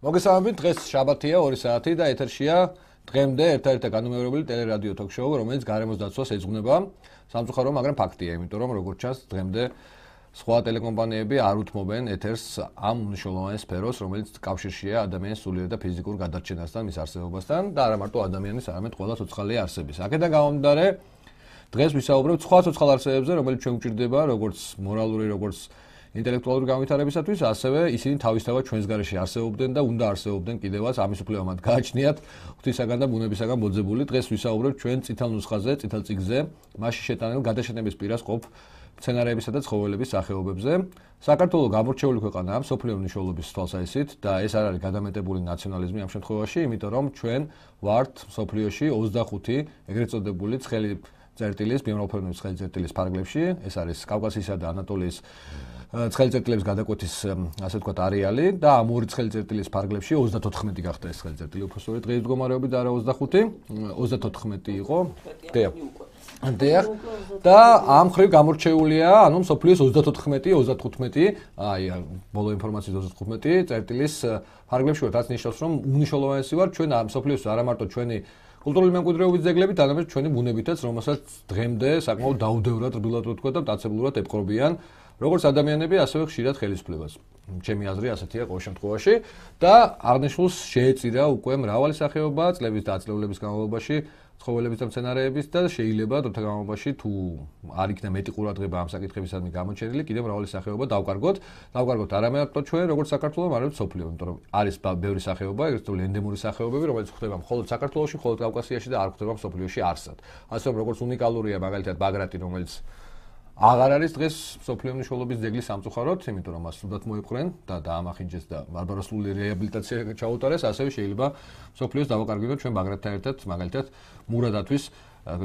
მოგესალმებით, დღეს შაბათია 2 საათი და ეთერშია დღემდე ერთ-ერთი განუმეორებელი ტელერადიო თოქ-შოუ, რომელიც გარემოს დაცვას ეძღვნება. სამწუხარო, მაგრამ ფაქტია, იმიტომ რომ როგორც ჩანს, დღემდე სხვა ტელეკომპანიები არ უთმობენ ეთერს ამ მნიშვნელოვან სფეროს, რომელიც კავშირშია ადამიანის სულიერ და ფიზიკურ გადარჩენასთან, მის არსებობასთან და არა მარტო ადამიანის, არამედ ყველა ცოცხალი არსების. აქედან გამომდინარე, დღეს ვისაუბრებთ სხვა ცოცხალ არსებებზე, რომელიც ჩვენ გვჭირდება, როგორც მორალური, როგორც ინტელექტუალური განვითარებისათვის, ასევე ისინი თავისთავად ჩვენს გარეშე არსებობდნენ და უნდა არსებობდნენ კიდევაც, ამის უფლება მათ გააჩნიათ ღვთისაგან და ბუნებისაგან მოძებული. დღეს ვისაუბრებთ ჩვენ წითელ ნუსხაზე, წითელ წიგნზე, მასში შეტანილ გადაშენების პირას ყოფ სცენარებისა და ცხოველების სახეობებზე. საქართველოს გამორჩეული ქვეყანაა მსოფლიო მნიშვნელობის თვალსაზრისით და ეს არ არის გადამეტებული ნაციონალიზმი ამ შემთხვევაში, იმიტომ რომ ჩვენ ვართ მსოფლიოში 25 ეგრეთ წოდებული ცხელი წერტილის, ბიომრავალფეროვნების ცხელი წერტილის ფარგლებში. ეს არის კავკასიისა და ანატოლიის ცხელი წერტილების გადაკვეთის, ასე ვთქვათ, არეალი და ამ ორი ცხელი წერტილის ფარგლებში 34 გახდა ეს ცხელი წერტილი, უფრო სწორედ დღის მდგომარეობით და არა 25, 34 იყო. დიახ. და ამ ხრივ გამორჩეულია, ანუ მსოფლიოს 34, 35, აი, ბოლო ინფორმაციის 35 წერტილის ფარგლებში ვართ, რაც ნიშნავს, რომ უნიშნულოვანესი ვარ ჩვენ ამ მსოფლიოს არა მარტო ჩვენი კულტურული მემკვიდრეობის ძეგლებით, არამედ ჩვენი ბუნებითაც, რომელსაც დღემდე საკმაოდ დაუდევრად, რბილად ვთქვა და მტაცებლურად ეპყრობიან როგორც ადამიანები, ასევე ხშირად ხელისუფლებას. ჩემი აზრი ასეთია ყოველ შემთხვევაში და აღნიშნულს შეეწირა უკვე მრავალი სახეობა წლების და აწლევლების განმავლობაში ცხოველების და მცენარეების და შეიძლება დროთა განმავლობაში თუ არ იქნა მეტი ყურადღება ამ საკითხებისადმი გამოჩენილი, კიდევ მრავალი სახეობა დავკარგოთ. დავკარგოთ არა მარტო ჩვენ, როგორც საქართველოს, არამედ მსოფლიო, იმიტომ რომ არის ბევრი სახეობა, ეგრეთ წოდებული ენდემური სახეობები, რომელიც გვხვდება მხოლოდ საქართველოში, მხოლოდ კავკასიაში და არ გვხვდება მსოფლიოში არსად. ასე რომ როგორც უნიკალურია მაგალითად ბაგრატი, რომელიც აღარ არის დღეს მსოფლიო მნიშვნელობის ძეგლი სამწუხაროდ, იმიტომ რომ მას სუდად მოიპყრენ და დაამახინჯეს და ბარბაროსული რეაბილიტაცია ჩაუტარეს, ასევე შეიძლება მსოფლიოს დავაკარგოთ ჩვენ ბაგრატთან ერთად, მაგალითად მურადათვის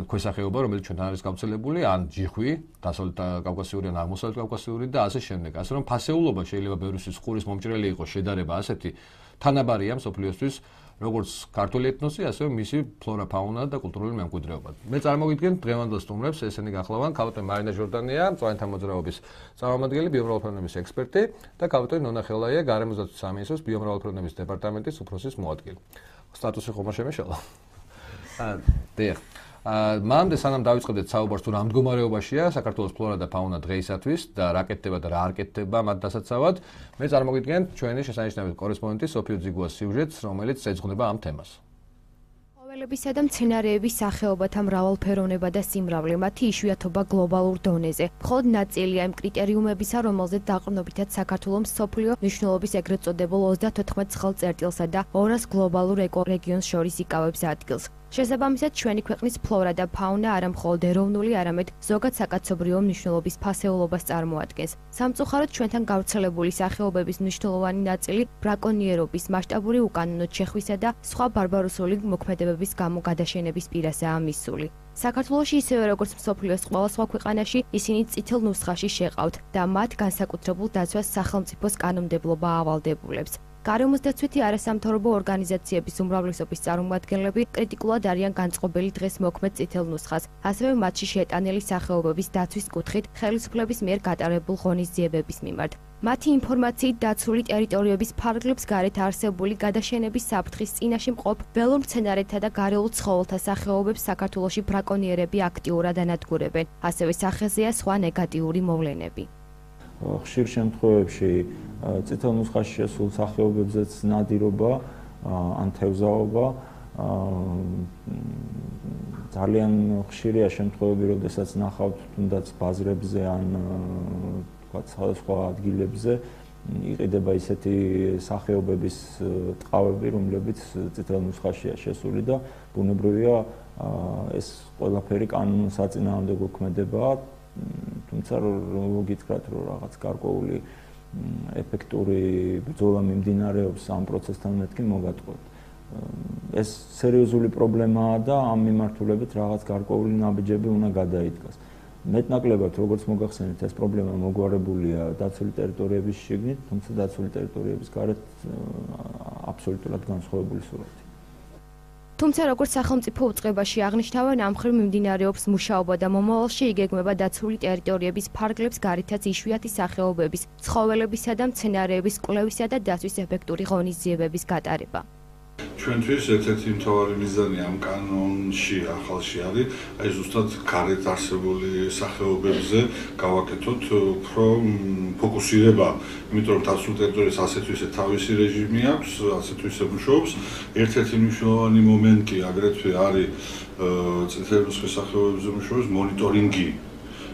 ქვესახეობა, რომელიც ჩვენ არის გავრცელებული, ან ჯიხვი, დასავლეთ კავკასიური ან აღმოსავლეთ კავკასიური და ასე შემდეგ. ასე რომ ფასეულობა შეიძლება ბევრისთვის ყურის მომჭრელი იყოს შედარება ასეთი თანაბარია მსოფლიოსთვის, როგორც ქართული ეთნოსი, ასევე მისი ფლორა, ფაუნა და კულტურული მემკვიდრეობა. მე წარმოგიდგენთ დღევანდელ სტუმრებს, ესენი გახლავან ქალბატონი მარინა ჟორდანია, მწვანეთა მოძრაობის წარმომადგენელი, ბიომრავალფეროვნების ექსპერტი და ქალბატონი ნონა ხელაია, გარემოს დაცვის სამინისტროს ბიომრავალფეროვნების დეპარტამენტის უფროსის მოადგილე. სტატუსი ხომ არ შემეშალა? დიახ. მანამდე სანამ დავიწყებდეთ საუბარს თუ რა მდგომარეობაშია საქართველოს ფლორა და ფაუნა დღეისათვის და რა კეთდება და რა არ კეთდება მათ დასაცავად, მე წარმოგიდგენთ ჩვენი შესანიშნავი კორესპონდენტი სოფიო ძიგუას სიუჟეტს, რომელიც ეძღვნება ამ თემას. ცხოველებისა და მცენარეების სახეობათა მრავალფეროვნება და სიმრავლე, მათი იშვიათობა გლობალურ დონეზე. მხოლოდ ნაწილია იმ კრიტერიუმებისა, რომელზეც დაყრდნობითად საქართველოს მსოფლიო მნიშვნელობის ეგრეთ წოდებულ 34 ცხელ წერტილსა და 200 გლობალურ ეკორეგიონს შორის იკავებს ადგილს. შესაბამისად, ჩვენი ქვეყნის ფლორა და ფაუნა არა მხოლოდ ეროვნული, არამედ ზოგად საკაცობრიო მნიშვნელობის ფასეულობას წარმოადგენს. სამწუხაროდ, ჩვენთან გავრცელებული სახეობების მნიშვნელოვანი ნაწილი ბრაკონიერობის, მასშტაბური უკანონოდ შეხვისა და სხვა ბარბაროსული მოქმედებების გამო გადაშენების პირასაა მისული. საქართველოში ისევე როგორც მსოფლიოს ყველა სხვა ქვეყანაში, ისინი წითელ ნუსხაში შეყავთ და მათ განსაკუთრებულ დაცვას სახელმწიფოს კანონმდებლობა ავალდებულებს. გარემოს დაცვითი არასამთავრობო ორგანიზაციების უმრავლესობის წარმომადგენლები კრიტიკულად არიან განწყობილი დღეს მოქმედ წითელ ნუსხას, ასევე მათში შეტანილი სახეობების დაცვის კუთხით ხელისუფლების მიერ გატარებულ ღონისძიებების მიმართ. მათი ინფორმაციით დაცული ტერიტორიების ფარგლებს გარეთ არსებული გადაშენების საფრთხის წინაშე მყოფ ველურ მცენარეთა და გარეულ ცხოველთა სახეობებს საქართველოში ბრაკონიერები აქტიურად ანადგურებენ, ასევე სახეზეა სხვა ნეგატიური მოვლენები. ხშირ შემთხვევებში წითელ ნუსხაში შესულ სახეობებზეც ნადირობა ან თევზაობა ძალიან ხშირია შემთხვევები, როდესაც ნახავთ თუნდაც ბაზრებზე ან თქვათ სხვადასხვა ადგილებზე იყიდება ისეთი სახეობების ტყავები, რომლებიც წითელ ნუსხაშია შესული და ბუნებრივია ეს ყველაფერი კანონსაწინააღმდეგო ქმედება. თუმცა რომ გითხრათ, რომ რაღაც გარკვეული ეფექტური ბრძოლა მიმდინარეობს ამ პროცესთან მეთქი მოგატყუებთ. ეს სერიოზული პრობლემაა და ამ მიმართულებით რაღაც გარკვეული ნაბიჯები უნდა გადაიდგას. მეტნაკლებად, როგორც მოგახსენეთ, ეს პრობლემა მოგვარებულია დაცული ტერიტორიების შიგნით, თუმცა დაცული ტერიტორიების გარეთ აბსოლუტურად განსხვავებული სურათი. თუმცა როგორც სახელმწიფო უწყებაში აღნიშნავენ, ამ მხრივ მიმდინარეობს მუშაობა და მომავალში იგეგმება დაცული ტერიტორიების ფარგლებს გარითაც იშვიათი სახეობების, ცხოველებისა და მცენარეების კვლევისა და დაცვის ეფექტური ღონისძიებების გატარება. ჩვენთვის ერთ-ერთი მთავარი მიზანი ამ კანონში ახალში არის, აი ზუსტად გარეთ არსებული სახეობებზე გავაკეთოთ უფრო ფოკუსირება, იმიტომ რომ დაცულ ტერიტორიას ასეთ ისე თავისი რეჟიმი აქვს, ასეთ ისე მუშაობს. ერთ-ერთი მნიშვნელოვანი მომენტი აგრეთვე არის წითელი ნუსხის სახეობებზე მუშაობის მონიტორინგი,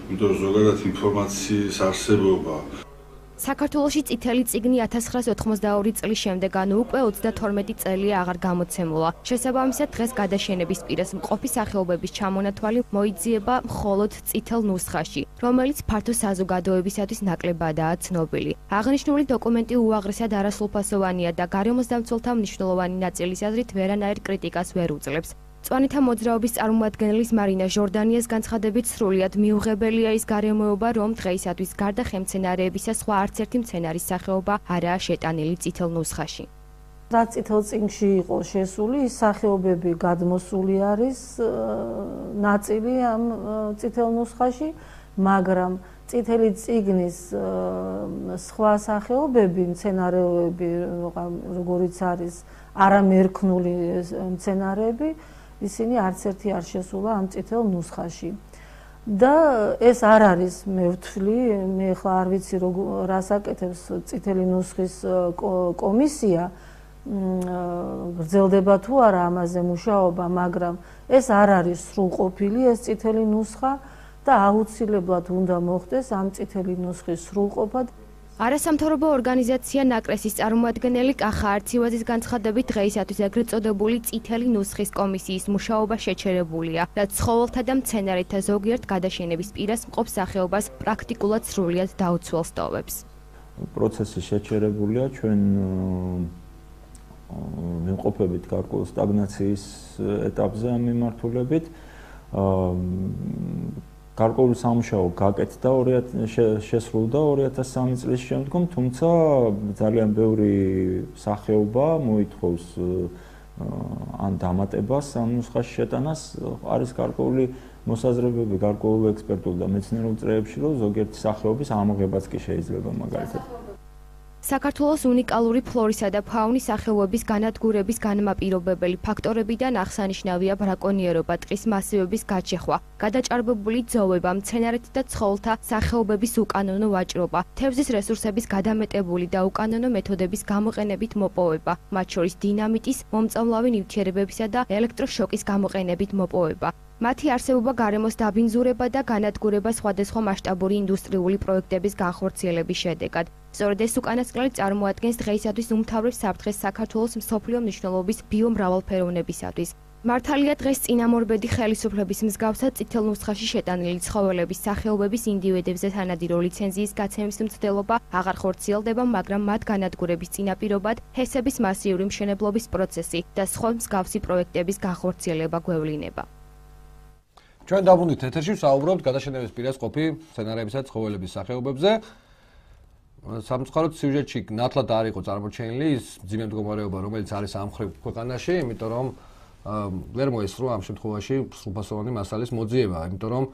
იმიტომ რომ ზოგადად ინფორმაციის არსებობა საქართველოში წითელი წიგნი 1992 წლის შემდეგ, ანუ უკვე 32 წელია აღარ გამოცემულა. შესაბამისად, დღეს გადაშენების პირას მყოფი სახეობების ჩამონათვალი მოიძიება მხოლოდ წითელ ნუსხაში, რომელიც ფართო საზოგადოებისათვის ნაკლებადაა ცნობილი. აღნიშნული დოკუმენტი უაღრესად არასრულფასოვანია და გარემოსდამცველთა მნიშვნელოვანი ნაწილის აზრით ვერანაირ კრიტიკას ვერ უძლებს. მწვანეთა მოძრაობის წარმომადგენლის მარინა ჟორდანიას განცხადებით სრულიად მიუღებელია ის გარემოება, რომ დღეისათვის გარდა ხემცენარეებისა სხვა არც ერთი მცენარის სახეობა არაა შეტანილი წითელ ნუსხაში. რაც წითელ წიგნში იყო შესული, ის სახეობები გადმოსული არის ნაწილი ამ წითელ ნუსხაში, მაგრამ წითელი წიგნის სხვა სახეობები, მცენარეები, როგორიც არის არამერქნული მცენარეები, ისინი არც ერთი არ შესულა ამ წითელ ნუსხაში. და ეს არ არის მე ვთვლი, მე ახლა არ ვიცი რას აკეთებს წითელი ნუსხის კომისია, გრძელდება თუ არა ამაზე მუშაობა, მაგრამ ეს არ არის სრულყოფილი ეს წითელი ნუსხა და აუცილებლად უნდა მოხდეს ამ წითელი ნუსხის სრულყოფა. არასამთავრობო ორგანიზაცია ნაკრესის წარმომადგენელი კახა არცივაძის განცხადებით დღეისათვის ეგრეთ წოდებული წითელი ნუსხის კომისიის მუშაობა შეჩერებულია, რაც ცხოველთა და მცენარეთა ზოგიერთ გადაშენების პირას მყოფ სახეობას პრაქტიკულად სრულიად დაუცველს ტოვებს. პროცესი შეჩერებულია, ჩვენ მიმყოფებით გარკვეულ სტაგნაციის ეტაპზე ამ მიმართულებით. გარკვეული სამუშაო გაკეთდა შესრულდა 2003 წლის შემდგომ, თუმცა ძალიან ბევრი სახეობა მოითხოვს ან დამატებას ამ ნუსხაში შეტანას. არის გარკვეული მოსაზრებები გარკვეულ ექსპერტულ და მეცნიერულ წრეებში, რომ ზოგიერთი სახეობის ამოღებაც კი შეიძლება მაგალითად. საქართველოს უნიკალური ფლორისა და ფაუნის სახეობების განადგურების განმაპირობებელი ფაქტორებიდან აღსანიშნავია ბრაკონიერობა, ტყის მასივების გაჩეხვა, გადაჭარბებული ძოვება, მცენარეთა და ცხოველთა სახეობების უკანონო ვაჭრობა, თევზის რესურსების გადამეტებული და უკანონო მეთოდების გამოყენებით მოპოვება, მათ შორის დინამიტის, მომწამლავი ნივთიერებებისა და ელექტროშოკის გამოყენებით მოპოვება. მათი არსებობა გარემოს დაბინძურება და განადგურება სხვადასხვა მასშტაბური ინდუსტრიული პროექტების განხორციელების შედეგად. სწორედ ეს უკანასკნელი წარმოადგენს დღეისათვის უმთავრეს საფრთხეს საქართველოს მსოფლიო მნიშვნელობის ბიომრავალფეროვნებისათვის. მართალია დღეს წინამორბედი ხელისუფლების მსგავსად წითელ ნუსხაში შეტანილი ცხოველების სახეობების ინდივიდებზე თანადირო ლიცენზიის გაცემის მცდელობა აღარ ხორციელდება, მაგრამ მათ განადგურების წინაპირობად ჰესების მასიური მშენებლობის პროცესი და სხვა მსგავსი პროექტების განხორციელება გვევლინება. ჩვენ დაბრუნდით ეთერში, ვსაუბრობთ გადაშენების პირას ყოფი მცენარეებისა და ცხოველების სახეობებზე. სამწუხაროდ სიუჟეტში ნათლად არ იყო წარმოჩენილი ის მძიმე მდგომარეობა, რომელიც არის ამ მხრივ ქვეყანაში, იმიტომ რომ ვერ მოესწრო ამ შემთხვევაში სრულფასოვანი მასალის მოძიება, იმიტომ რომ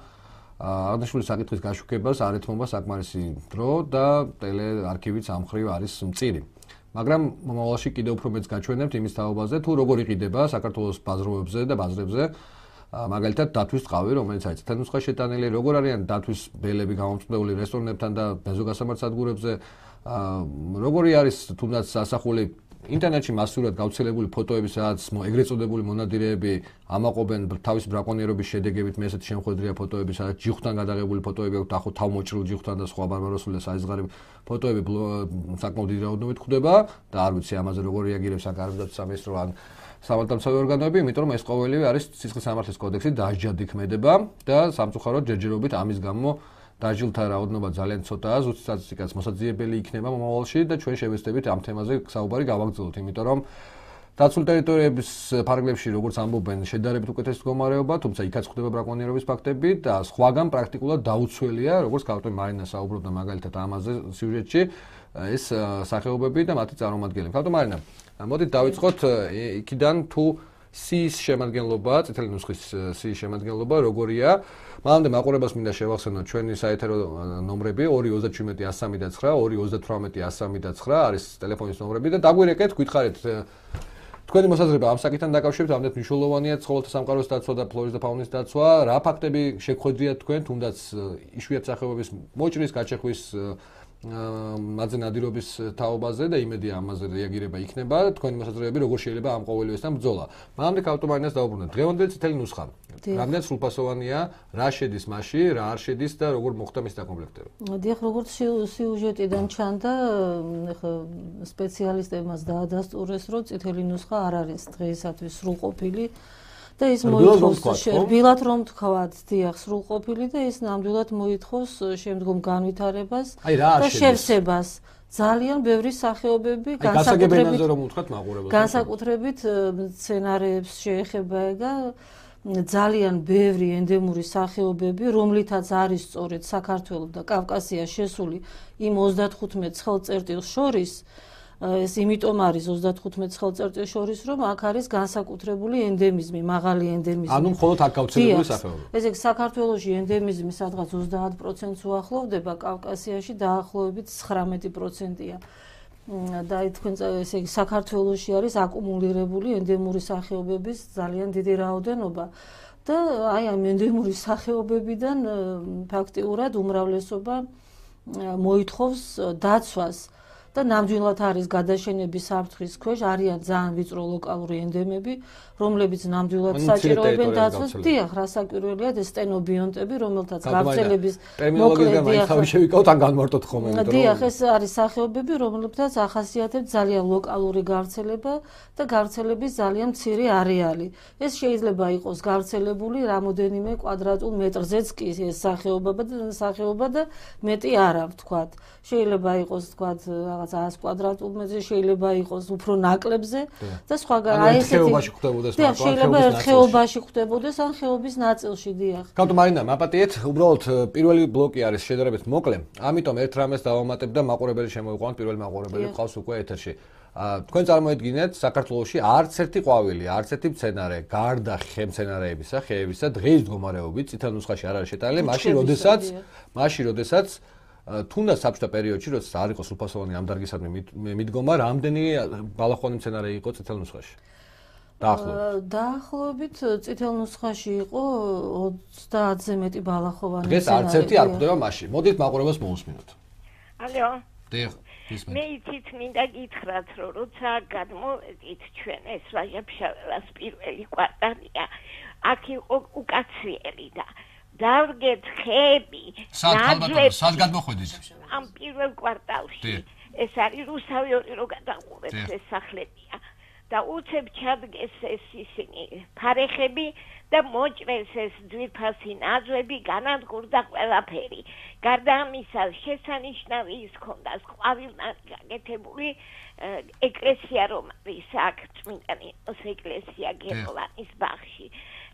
აღნიშნული საკითხის გაშუქებას არ ეთმობა საკმარისი დრო და ტელეარქივიც ამ მხრივ არის მწირი. მაგრამ მომავალში კიდევ უფრო მეც გაჩვენებთ იმის თაობაზე, თუ როგორ იყიდება საქართველოს ბაზრობებზე და ბაზრებზე მაგალითად დათვის ტყავი, რომელიც არის წითელ ნუსხაში შეტანილი, როგორ არიან დათვის ბელები გამომწვეული რესტორნებთან და ბენზოგასამართ სადგურებზე, როგორი არის თუნდაც ასახული ინტერნეტში მასურად გავრცელებული ფოტოები, სადაც ეგრეთ წოდებული მონადირეები ამაყობენ თავის ბრაკონიერობის შედეგებით, მე ესეთი შემოხვედრია ფოტოები, სადაც ჯიხვთან გადაღებული ფოტოები აქვს, ახო თავმოჭრილ ჯიხვთან და სხვა ბარბაროსული და საიზღარი ფოტოები საკმაოდ დიდი რაოდენობით გვხვდება და არ ვიცი ამაზე როგორ რეაგირებს ან გარემოსდაცვის სამინისტრო ან სამართალმცავი ორგანოები, იმიტომ რომ ეს ყოველივე არის სისხლის სამართლის კოდექსით დასჯადი ქმედება და სამწუხაროდ ჯერჯერობით ამის გამო დაჟილთა რაოდენობა ძალიან ცოტაა, ზუსტ სტატისტიკაც მოსაძიებელი იქნება მომავალში და ჩვენ შევეცდებით ამ თემაზე საუბარი გავაგრძელოთ, იმიტომ რომ დაცულ ტერიტორიების ფარგლებში, როგორც ამბობენ, შედარებით უკეთესი მდგომარეობა, თუმცა იქაც ხდება ბრაკონიერობის ფაქტები და სხვაგან პრაქტიკულად დაუცველია, როგორც კარტო მარინა საუბრობდა მაგალითად ამაზე სიუჟეტში, ეს სახეობები და მათი წარმომადგენლები. კარტო მარინა, მოდით დავიწყოთ იქიდან თუ სიის შემადგენლობა, წითელი ნუსხის სიის შემადგენლობა როგორია? მანამდე მაყურებელს მინდა შევახსენოთ ჩვენი საეთერო ნომრები 237-103-9, 238-103-9 არის ტელეფონის ნომრები და დაგვირეკეთ, გითხარით თქვენი მოსაზრება ამ საკითხთან დაკავშირებით, ამდენ მნიშვნელოვანია ცხოველთა სამყაროს დაცვა და ფლორის და ფაუნის დაცვა, რა ფაქტები შეგხვედრიათ თქვენ, თუნდაც იშვიათ სახეობების მოჭრის, გაჩეხვის მათზე ნადირობის თაობაზე და იმედია ამაზე რეაგირება იქნება, თქვენი მოსაზრებები როგორ შეიძლება ამ ყოველივესთან ბრძოლა. მანამდე ქავტომარინას დავუბრუნდეთ. დღევანდელი წითელი ნუსხა. რამდენად სრულფასოვანია, რა შედის მასში, რა არ შედის და როგორ მოხდა მის დაკომპლექტება? დიახ, როგორც სიუჟეტიდან ჩანდა, ახლა სპეციალისტებმაც დაადასტურეს, რომ წითელი ნუსხა არ არის დღეისათვის სრულყოფილი. და ის მოითხოვს რბილად რომ თქვათ, დიახ, სრულყოფილი და ის ნამდვილად მოითხოვს შემდგომ განვითარებას და შევსებას. ძალიან ბევრი სახეობები განსაკუთრებით მცენარეებს შეეხება ეგა ძალიან ბევრი ენდემური სახეობები, რომლითაც არის სწორედ საქართველოს და კავკასიას შესული იმ 35 ცხელწერტილს შორის ეს იმიტომ არის 35 ცხელწერტილს შორის, რომ აქ არის განსაკუთრებული ენდემიზმი, მაღალი ენდემიზმი. ანუ მხოლოდ აქ გავრცელებული სახეობები. ესე იგი, საქართველოში ენდემიზმი სადღაც 30%-ს უახლოვდება, კავკასიაში დაახლოებით 19%-ია. და თქვენ ესე იგი, საქართველოში არის აკუმულირებული ენდემური სახეობების ძალიან დიდი რაოდენობა. და აი ამ ენდემური სახეობებიდან ფაქტიურად უმრავლესობა მოითხოვს დაცვას. და ნამდვილად არის გადაშენების საფრთხის ქვეშ, არიან ძალიან ვიწრო ლოკალური ენდემები, რომლებიც ნამდვილად საჭიროებენ დაცვას. დიახ, რასაკვირველია ეს სტენობიონტები, რომელთაც გავრცელების ტერმინოლოგიიდან მაინც შევიკავთ ან განმარტოთ ხოლმე. დიახ, ეს არის სახეობები, რომლებთაც ახასიათებს ძალიან ლოკალური გავრცელება და გავრცელების ძალიან მცირე არეალი. ეს შეიძლება იყოს გავრცელებული რამოდენიმე კვადრატულ მეტრზეც კი ეს სახეობა და მეტი არა ვთქვათ. შეიძლება იყოს ვთქვათ რაღაც 100 კვადრატულ მეტრზე, შეიძლება იყოს უფრო ნაკლებზე და სხვაგან აი ესეთი ხეობაში ხდებოდეს მაგრამ შეიძლება ერთ ხეობაში ხდებოდეს ან ხეობის ნაწილში, დიახ. გავთო მარინა, მაპატიეთ, უბრალოდ პირველი ბლოკი არის შედარებით მოკლე, ამიტომ ერთ რამეს დავამატებ და მაყურებელი შემოვიყვანოთ, პირველი მაყურებელი ყავს უკვე ეთერში. თქვენ წარმოედგინეთ, საქართველოში არც ერთი ყვავილი, არც ერთი მცენარე, გარდა ხემცენარეებისა, ხეებისა, დღეის მდგომარეობით წითელ ნუსხაში არ არის შეტანილი, მაშინ როდესაც თუნდაც საბჭოთა პერიოდში, როცა არ იყო სრულფასოვანი ამ დარგისადმი მიდგომა, რამდენი ბალახოვანი მცენარე იყო წითელ ნუსხაში? დაახლოებით წითელ ნუსხაში იყო 30-ზე მეტი ბალახოვანი მცენარე. დღეს არც ერთი არ გვხვდება მასში. მოდით მაყურებელს მოусმინოთ. ალო. დიახ, ისმენთ. მე იცით მინდა გითხრათ, რომ როცა გადმოვედით ჩვენ ეს ვაჟა-ფშაველას პირველი კვარტალია, აქ იყო უკაციელი და დავდგეთ ხეები, ნაძლები. სად გადმოხვედით? ამ პირველ კვარტალში. ეს არის რუსავი ორი რო გადაყურებს ეს სახლებია. და უცებ ჩადგეს ეს ისინი ფარეხები და მოჭრეს ეს ძვირფასი ნაძვები, განადგურდა ყველაფერი. გარდა ამისა, შესანიშნავი ის ქონდა ყვავილნად გაკეთებული ეკლესია, რომ არის აქ წმინდა ნინოს ეკლესია გერმანიის ბაღში.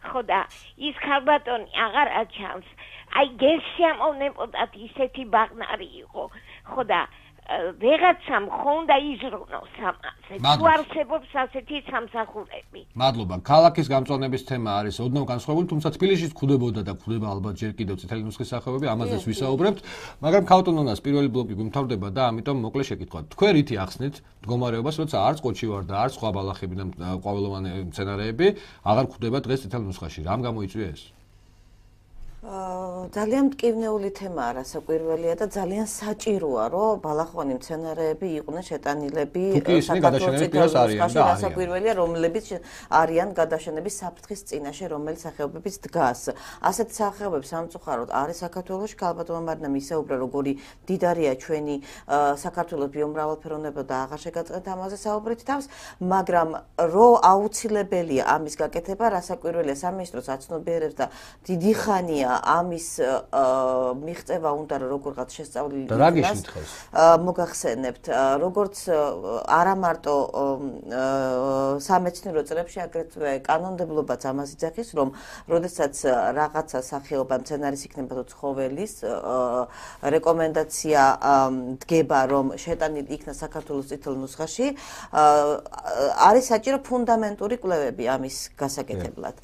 ხო და ის ქალბატონი აღარ აჩანს. აი გესიამოვნებოდათ ისეთი ბაღნარი იყო. ხო და ვეღაცამ ხონდა იზრუნოს ამაზე. თუ არსებობს ასეთი სამსახურები. მადლობა. ქალაქის გამწვანების თემა არის ოდნავ განსხვავებული, თუმცა თბილისშიც გვხვდებოდა და გვხვდება ალბათ ჯერ კიდევ წითელი ნუსხის სახეობები, ამაზეც ვისაუბრებთ, მაგრამ ქავტონონას პირველი ბლოკი გვიმთავრდება და ამიტომ მოკლე შეკითხვა. თქვენ რითი ახსნით მდგომარეობას, როცა არც ყოჩი ვარ და არც სხვა ბალახები და ყვავილოვანი მცენარეები აღარ გვხვდება დღეს წითელ ნუსხაში. რამ გამოიწვია ეს? ძალიან მტკივნეული თემაა, რასაკვირველია და ძალიან საჭიროა, რომ ბალახოვანი მცენარეები იყვნენ შეტანილები საქართველოს წითელ ნუსხაში, რასაკვირველია, რომლებიც არიან გადაშენების საფრთხის წინაშე, რომელიც სახეობების დგას. ასეთ სახეობებს სამწუხაროდ არის საქართველოში, ქალბატონმა მარინამ ისაუბრა, როგორი დიდარია ჩვენი საქართველოს ბიომრავალფეროვნება და აღარ შეგაწყეთ ამაზე საუბრით თავს, მაგრამ რო აუცილებელია ამის გაკეთება, რასაკვირველია სამინისტროს აცნობიერებს და დიდი ხანია ამის მიღწევა უნდა როგორღაც შესწავლილი იქნას. მოგახსენებთ, როგორც არა მარტო სამეცნიერო წრებში, აგრეთვე კანონმდებლობაც ამას იძახის, რომ როდესაც რაღაცა სახეობა მცენარის იქნება თუ ცხოველის რეკომენდაცია დგება, რომ შეტანილი იქნა საქართველოს წითელ ნუსხაში, არის საჭირო ფუნდამენტური კვლევები ამის გასაკეთებლად.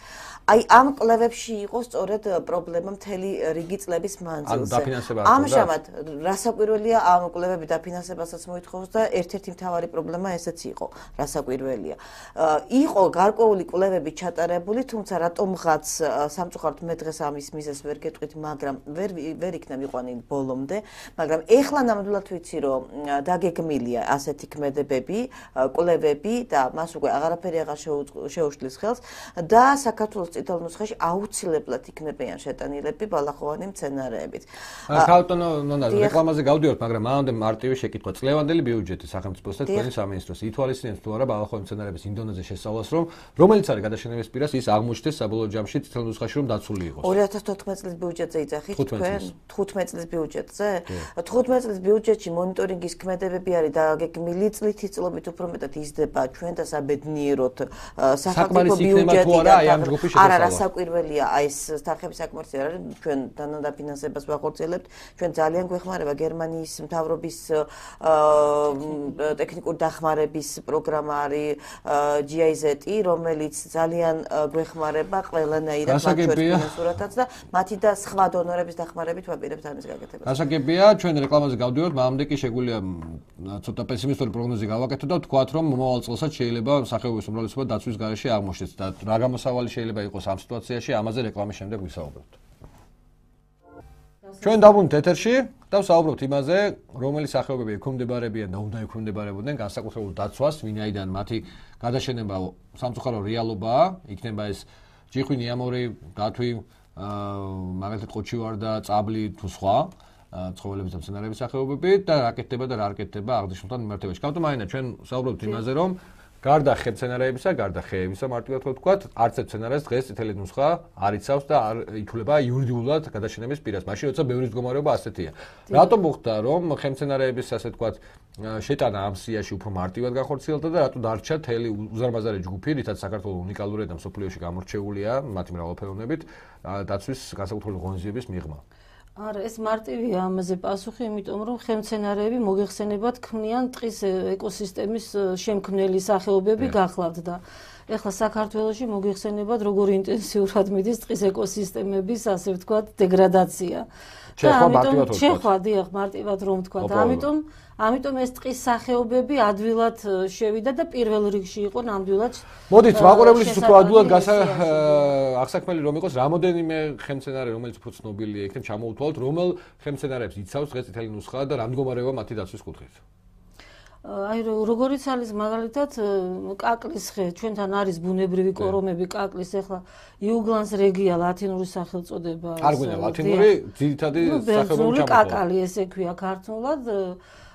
აი ამ კვლევებში იყო სწორედ პრობლემა მთელი რიგი წლების მანძილზე. ამჟამად რასაკვირველია ამ კვლევები დაფინანსებასაც მოითხოვს და ერთ-ერთი მთავარი პრობლემა ესეც იყო, რასაკვირველია. იყო გარკვეული კვლევები ჩატარებული, თუმცა რატომღაც სამწუხაროდ მე დღეს ამის მიზეზს ვერ გეტყვით, მაგრამ ვერ იქნა მიყვანილი ბოლომდე, მაგრამ ეხლა ნამდვილად ვიცი, რომ დაგეგმილია ასეთი ქმედებები, კვლევები და მას უკვე აღარაფერი აღარ შეუშლის ხელს და საქართველოს წითელ ნუსხაში აუცილებლად იქნებიან შეტანილები ბალახოვანი მცენარეებით. ქალბატონო ნონა, რეკლამაზე გავდივართ, მაგრამ მანამდე მარტივი შეკითხვა. წლევანდელი ბიუჯეტი სახელმწიფოს და თქვენი სამინისტროს ითვალისწინებს თუ არა ბალახოვანი მცენარეების ინდონეზე შესწავლას, რომ რომელიც არის გადაშენების პირას ის აღმოჩნდეს საბოლოო ჯამში წითელ ნუსხაში რომ დაცული იყოს. 2014 წლის ბიუჯეტზე იძახით თქვენ? 15 წლის ბიუჯეტზე? 15 წლის ბიუჯეტში მონიტორინგის ქმედებები არის დაგეგმილი წლითი წლობით უფრო მეტად იზრდება ჩვენ და საბედნიეროდ სახელმწიფო ბიუჯეტი არა რასაკვირველია აი ეს სახების საკმარისი არ არის ჩვენ დანადაფინანსებას ვახორციელებთ ჩვენ ძალიან გვეხმარება გერმანიის მთავრობის ტექნიკური დახმარების პროგრამა არის GIZ რომელიც ძალიან გვეხმარება ყველანაირად მათშორისურათაც და მათი და სხვა დონორების დახმარებით ვაპირებთ ამის გაკეთებას. გასაგებია ჩვენ რეკლამაზე გავდივართ, მანამდე კი შეგვიძლია ცოტა პესიმისტური პროგნოზი გავაკეთოთ და ვთქვათ რომ მომავალ წელსაც შეიძლება სახეობის უმრავლესობა დაცვის გარეშე აღმოჩნდეს და რა გამოსავალი შეიძლება იყოს ამ სიტუაციაში, ამაზე რეკლამის შემდეგ ვისაუბრებთ. ჩვენ დავბრუნდით ეთერში და ვსაუბრობთ იმაზე, რომელი სახეობები ექვემდებარებიან და უნდა ექვემდებარებოდნენ განსაკუთრებულ დაცვას, ვინაიდან მათი გადაშენება სამწუხარო რეალობაა, იქნება ეს ჯიხვი, ნიამორი, დათვი, მაგალითად ყოჩივარ და წაბლი თუ სხვა ცხოველების და მცენარეების სახეობები და რა კეთდება და რა არ კეთდება აღნიშნულთან მიმართებაში. ქალბატონო, ჩვენ ვსაუბრობთ იმაზე, რომ გარდა ხე-მცენარეებისა, გარდა ხეებისა, მარტივად ვთქვათ, არც ერთ მცენარეს დღეს წითელი ნუსხა არ იცავს და არ ითვლება იურიდიულად გადაშენების პირას. მაშინ როცა ბევრი მდგომარეობა ასეთია. რატომ მოხდა, რომ ხე-მცენარეების ასე ვთქვათ, შეტანა ამ სიაში უფრო მარტივად განხორციელდა და რატო დარჩა მთელი უზარმაზარი ჯგუფი, რითაც საქართველოს უნიკალური და მსოფლიოში გამორჩეულია მათი მრავალფეროვნებით, დაცვის განსაკუთრებული ღონისძიების მიღმა. არა, ეს მარტივია ამაზე პასუხი, იმიტომ რომ ხემცენარეები მოგეხსენებათ ქმნიან ტყის ეკოსისტემის შემქმნელი სახეობები გახლავთ და ეხლა საქართველოში მოგეხსენებათ როგორ ინტენსიურად მიდის ტყის ეკოსისტემების, ასე ვთქვათ, დეგრადაცია. შეხვა, დიახ, მარტივად რომ ვთქვათ, ამიტომ ეს ტყის სახეობები ადვილად შევიდა და პირველ რიგში იყო ნამდვილად. მოდით, მაყურებლისთვის უფრო ადვილად აღსაქმელი რომ იყოს, რამოდენიმე ხემცენარე, რომელიც უფრო ცნობილია, იქნებ ჩამოუთვალოთ, რომელ ხემცენარეებს იცავს დღეს წითელი ნუსხა და რა მდგომარეობა მათი დაცვის კუთხით. აი როგორიც არის მაგალითად კაკლის ხე, ჩვენთან არის ბუნებრივი კორომები კაკლის, ეხლა იუგლანს რეგია ლათინური სახელწოდება. არ გვინდა ლათინური, ძირითადი სახეობები ჩამოთვალა. კაკალი ესე ქვია ქართულად.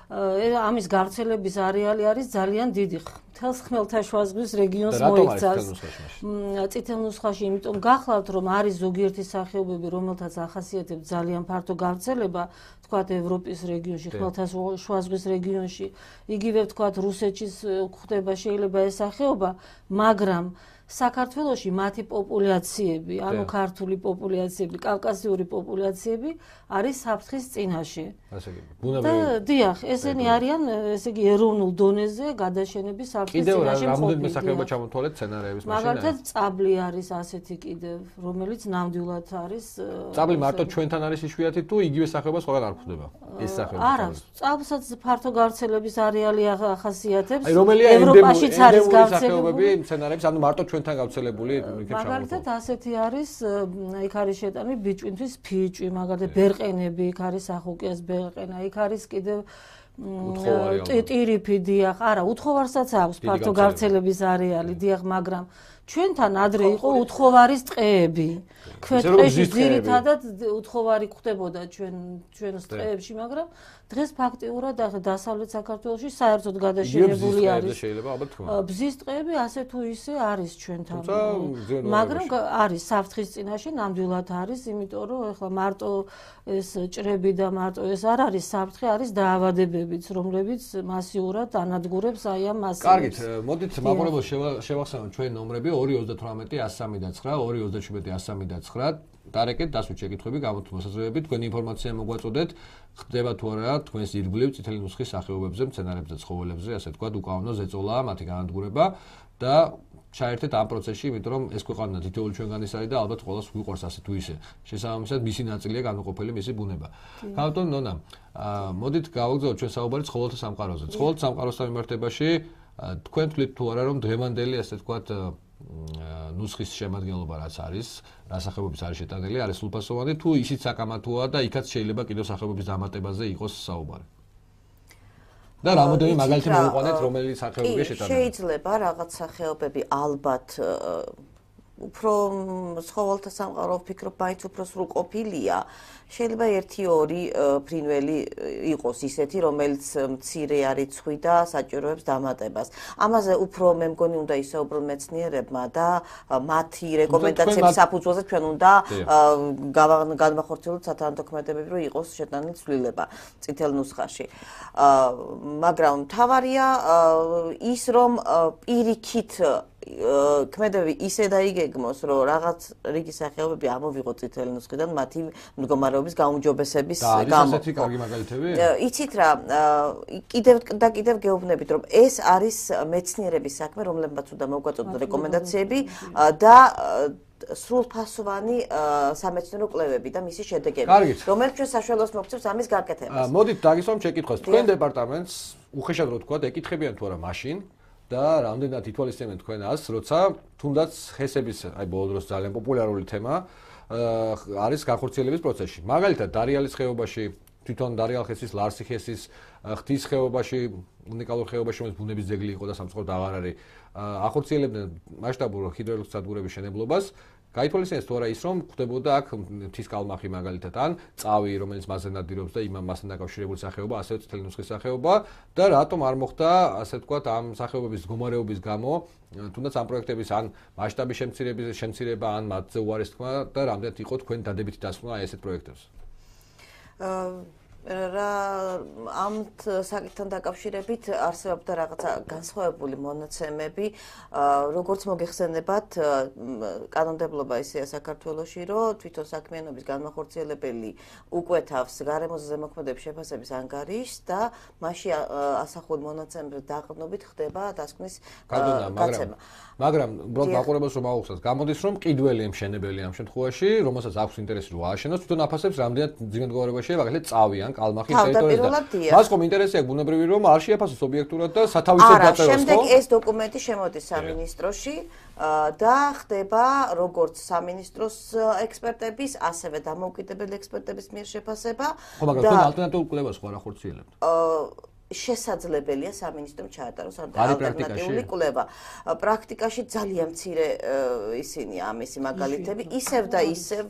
ამის გავრცელების არეალი არის ძალიან დიდი. მთელს ხმელთაშუაზღვის რეგიონს მოიცავს. წითელ ნუსხაში, იმიტომ გახლავთ, რომ არის ზოგიერთი სახეობები, რომელთაც ახასიათებს ძალიან ფართო გავრცელება, თქვათ ევროპის რეგიონში, ხმელთაშუაზღვის რეგიონში, იგივე თქვათ რუსეთშიც გვხვდება შეიძლება ეს სახეობა, მაგრამ საქართველოში მათი პოპულაციები, ანუ ქართული პოპულაციები, კავკასიური პოპულაციები არის საფრთხის წინაშე. დიახ, ესენი არიან, ესე იგი, ეროვნულ დონეზე გადაშენების საფრთხის წინაშე. კიდევ რამდენიმე სახეობა ჩამოთვალეთ მცენარეების მაშინ? მაგალითად, წაბლი არის ასეთი კიდევ, რომელიც ნამდვილად არის. წაბლი მარტო ჩვენთან არის იშვიათი თუ იგივე სახეობა სხვაგან არ გვხვდება? ეს სახეობა. არა, წაბლსაც ფართო გავრცელების არეალი ახასიათებს. ევროპაშიც არის გავრცელებული მცენარეების, ანუ მარტო ჩვენთან გავრცელებული იქნება. მაგალითად, ასეთი არის, იქ არის შეტანილი ბიჭვინთვის ფიჭვი, მაგალითად, ბერყენები, იქ არის ახოკიას ბერყენა, იქ არის კიდევ ტირიფი, დიახ, არა, უთხოვარსაც აქვს ფართო გავრცელების არეალი, დიახ, მაგრამ ჩვენთან ადრე იყო უთხოვარის ტყეები. ქვეტყეში ძირითადად უთხოვარი გვხდებოდა ჩვენს ტყეებში, მაგრამ დღეს ფაქტიურად დასავლეთ საქართველოში საერთოდ გადაშენებული არის. ბზის ტყეები ასე თუ ისე არის ჩვენთან. მაგრამ არის საფრთხის წინაშე, ნამდვილად არის, იმიტომ რომ ეხლა მარტო ეს ჭრები და მარტო ეს არ არის საფრთხე, არის დაავადებებიც, რომლებიც მასიურად ანადგურებს აი ამ მასივებს. კარგით, მოდით მაყურებელს შევახსენოთ ჩვენი ნომრები 238-103-9, 237-103-9. დარეკეთ დასვით შეკითხვები, გამოთქვით მოსაზრებები, თქვენი ინფორმაცია მოგვაწოდეთ, ხდება თუ არა თქვენს ირგვლივ წითელი ნუსხის სახეობებზე, მცენარეებზე, ცხოველებზე, ასე თქვა, უკანონო ზეწოლაა მათი განადგურება და ჩაერთეთ ამ პროცესში, იმიტომ რომ ეს ქვეყანა თითოეული ჩვენგანის არის და ალბათ ყველას გვიყვარს ასე თუ ისე. შესაბამისად, მისი ნაწილია განუყოფელი მისი ბუნება. ბატონო ნონა, მოდით გავაგზავნოთ ჩვენ საუბარი ცხოველთა სამყაროზე. ცხოველთა სამყაროსთან მიმართებაში თქვენ თვლით თუ არა რომ დღევანდელი ასე თქვა ნუსხის შემადგენლობა რაც არის, რა სახეობების არის შეტანილი, არის სრულფასოვანი თუ ისიც საკამათოა და იქაც შეიძლება კიდევ სახეობების დამატებაზე იყოს საუბარი. და რამოდენიმე მაგალითი მოვიყვანეთ, რომელი სახეობია შეტანილი. შეიძლება რაღაც სახეობები ალბათ უფრო ცხოველთა სამყარო ვფიქრობ, მაინც უფრო სრულყოფილია. შეიძლება 1-2 ფრინველი იყოს ისეთი, რომელიც მცირე არის ცხვი და საჭიროებს დამატებას. ამაზე უფრო მე მგონი უნდა ისაუბრონ მეცნიერებმა და მათი რეკომენდაციების საფუძველზე ჩვენ უნდა განვახორციელოთ სათანადოქმედებები, რომ იყოს შეტანილი ცვლილება წითელ ნუსხაში. მაგრამ მთავარია ის, რომ პირიქით ქმედებები ისე დაიგეგმოს, რომ რაღაც რიგი სახეობები ამოვიღოთ წითელი ნუსხიდან მათი მდგომარეობის გაუმჯობესების გამო. და ასეთი კარგი მაგალითები? იცით რა, კიდევ გეუბნებით, რომ ეს არის მეცნიერების საქმე, რომლებმაც უნდა მოგვაწოდოთ რეკომენდაციები და სრულფასოვანი სამეცნიერო კვლევები და მისი შედეგები, რომელიც ჩვენ საშუალებას მოგცემს ამის გაკეთებას. მოდით დაგისვამ შეკითხვას. თქვენ დეპარტამენტს უხეშად რო თქვა, ეკითხებიან თუ არა მაშინ და რამდენად ითვალისწინებენ თქვენ ას, როცა თუნდაც ხესების, აი ბოლო დროს ძალიან პოპულარული თემა არის განხორციელების პროცესში. მაგალითად, დარიალის ხეობაში, თვითონ დარიალ ხესის, ლარსი ხესის, ხთის ხეობაში, უნიკალურ ხეობაში, რომელიც ბუნების ძეგლი იყო და სამწუხაროდ აღარ არის, ახორციელებდნენ მასშტაბურ ჰიდროელექტროს სადგურების შენებლობას. გაითვალისწინეს თუ არა ის, რომ ხდებოდა აქ მთის კალმახი მაგალითად ან წავი, რომელიც მასზე ნადირობს და იმამ მასთან დაკავშირებული სახეობა, ასევე წითელი ნუსხის სახეობა და რატომ არ მოხდა, ასე ვთქვათ, ამ სახეობების მდგომარეობის გამო, თუნდაც ამ პროექტების ან მასშტაბის შემცირება, ან მათზე უარის თქმა და რამდენად იყო თქვენ დადებითი დასკვნა აი ესეთ პროექტებს? ამ საკითხთან დაკავშირებით არსებობდა რაღაცა განსხვავებული მონაცემები, როგორც მოგეხსენებათ, კანონმდებლობა ისეა საქართველოში, რომ თვითონ საქმიანობის განმახორციელებელი უკვეთავს გარემოზე ზემოქმედების შეფასების ანგარიშს და მასში ასახული მონაცემების დაყრდნობით ხდება დასკვნის გაცემა. მაგრამ უბრალოდ მაყურებელს რომ აუხსნათ, გამოდის რომ ყიდველი ემშენებელი ამ შემთხვევაში, რომელსაც აქვს ინტერესი რომ ააშენოს, თვითონ აფასებს რამდენად ძიმე მდგომარეობაშია, მაგალითად წავი ან კალმახის ტერიტორიაზე. მას ხომ ინტერესი აქვს ბუნებრივი რომ არ შეაფასოს ობიექტურად და სათავისად დაწეროს, ხო? შემდეგ ეს დოკუმენტი შემოდის სამინისტროში და ხდება როგორც სამინისტროს ექსპერტების, ასევე დამოუკიდებელი ექსპერტების მიერ შეფასება. ხო, მაგრამ თქვენ ალტერნატიულ კვლევას ხო არ ახორციელებთ? შესაძლებელია სამინისტრომ ჩაატაროს ალტერნატიული კვლევა. პრაქტიკაში ძალიან მცირე ისინი ამისი მაგალითები, ისევ და ისევ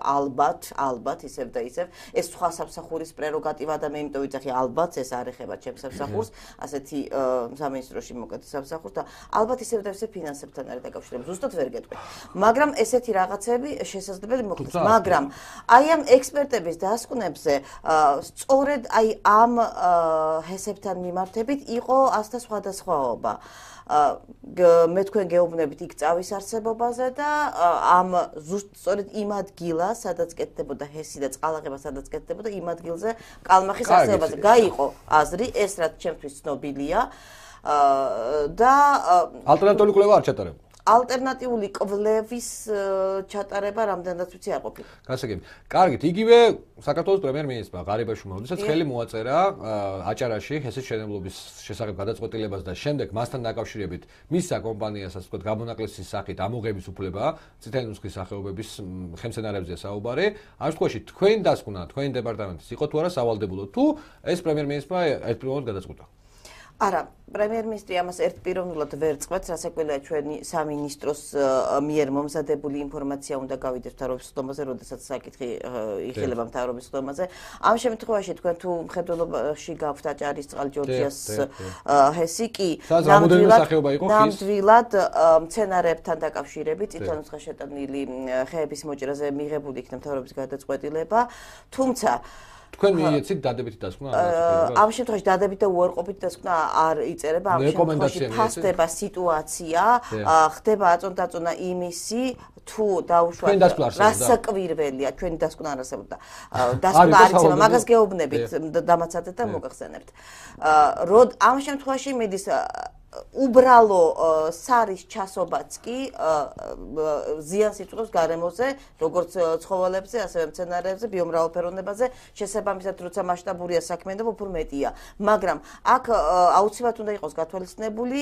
ალბათ ისევ და ისევ ეს სხვა სამსახურის პრეროგატივა და მე იმიტომ ვიცახი ალბათ ეს არ ეხება ჩემს სამსახურს, ასეთი სამინისტროში მოკეთე სამსახურს და ალბათ ისევ და ისევ ფინანსებთან არის დაკავშირებული. ზუსტად ვერ გეტყვი. მაგრამ ესეთი რაღაცები შესაძლებელი მოხდეს. მაგრამ აი ამ ექსპერტების დასკვნებზე სწორედ აი ამ ჰესებთან მიმართებით იყო ასთა სხვადასხვაობა. მე თქვენ გეუბნებით იქ წავის არსებობაზე და ამ სწორედ იმ ადგილას, სადაც კეთდებოდა ჰესი და წყალაღება, სადაც კეთდებოდა იმ ადგილზე კალმახის არსებობაზე. გაიყო აზრი, ეს რაც ჩემთვის ცნობილია და ალტერნატიული კვლევა არ ჩატარებულა. ალტერნატიული კვლევის ჩატარება რამდენადაც ვიცი არ ყოფილა. გასაგები. კარგით, იგივე საქართველოს პრემიერ-მინისტრმა ღარიბაშვილმა, როდესაც ხელი მოაწერა აჭარაში ჰესის შენებლობის შესახებ გადაწყვეტილებას და შემდეგ მასთან დაკავშირებით მისცა კომპანიას, ასე ვთქვათ, გამონაკლისის სახით ამოღების უფლება, წითელი ნუსხის სახეობების ხელმძენარეებზეა საუბარი. ამ შემთხვევაში თქვენ დასკვნა, თქვენი დეპარტამენტის იყო თუ არა სავალდებულო თუ ეს პრემიერ-მინისტრმა ერთპიროვნად გადაწყვიტა? არა, პრემიერ-მინისტრი ამას ერთპიროვნულად ვერ წყვეტს, რასაკვირველია ჩვენი სამინისტროს მიერ მომზადებული ინფორმაცია უნდა გავიდეს მთავრობის სხდომაზე, როდესაც საკითხი იღელება მთავრობის სხდომაზე. ამ შემთხვევაში თქვენ თუ მხედველობაში გაქვთ აჭარისწყალი ჯორჯიას ჰესი კი ნამდვილად მცენარეებთან დაკავშირებით წითელ ნუსხაში შეტანილი ხეების მოჭრაზე მიღებული იქნა მთავრობის გადაწყვეტილება, თუმცა თქვენ მიეცით დადებითი დასკვნა? ამ შემთხვევაში დადებითი და უარყოფითი დასკვნა არ იწერება, ამ შემთხვევაში ფასდება სიტუაცია, ხდება აწონდაწონა იმისი, თუ დაუშვათ რასაკვირველია, ჩვენი დასკვნა არ არსებობდა. დასკვნა არ იცემა, მაგას გეუბნებით, დამაცადეთ და მოგახსენებთ. ამ შემთხვევაში მიდის უბრალო სარის ჩასობაც კი ზიანს იწვევს გარემოზე, როგორც ცხოველებზე, ასევე მცენარეებზე, ბიომრავალფეროვნებაზე, შესაბამისად, როცა მასშტაბურია საქმიანობა, უფრო მეტია. მაგრამ აქ აუცილებლად უნდა იყოს გათვალისწინებული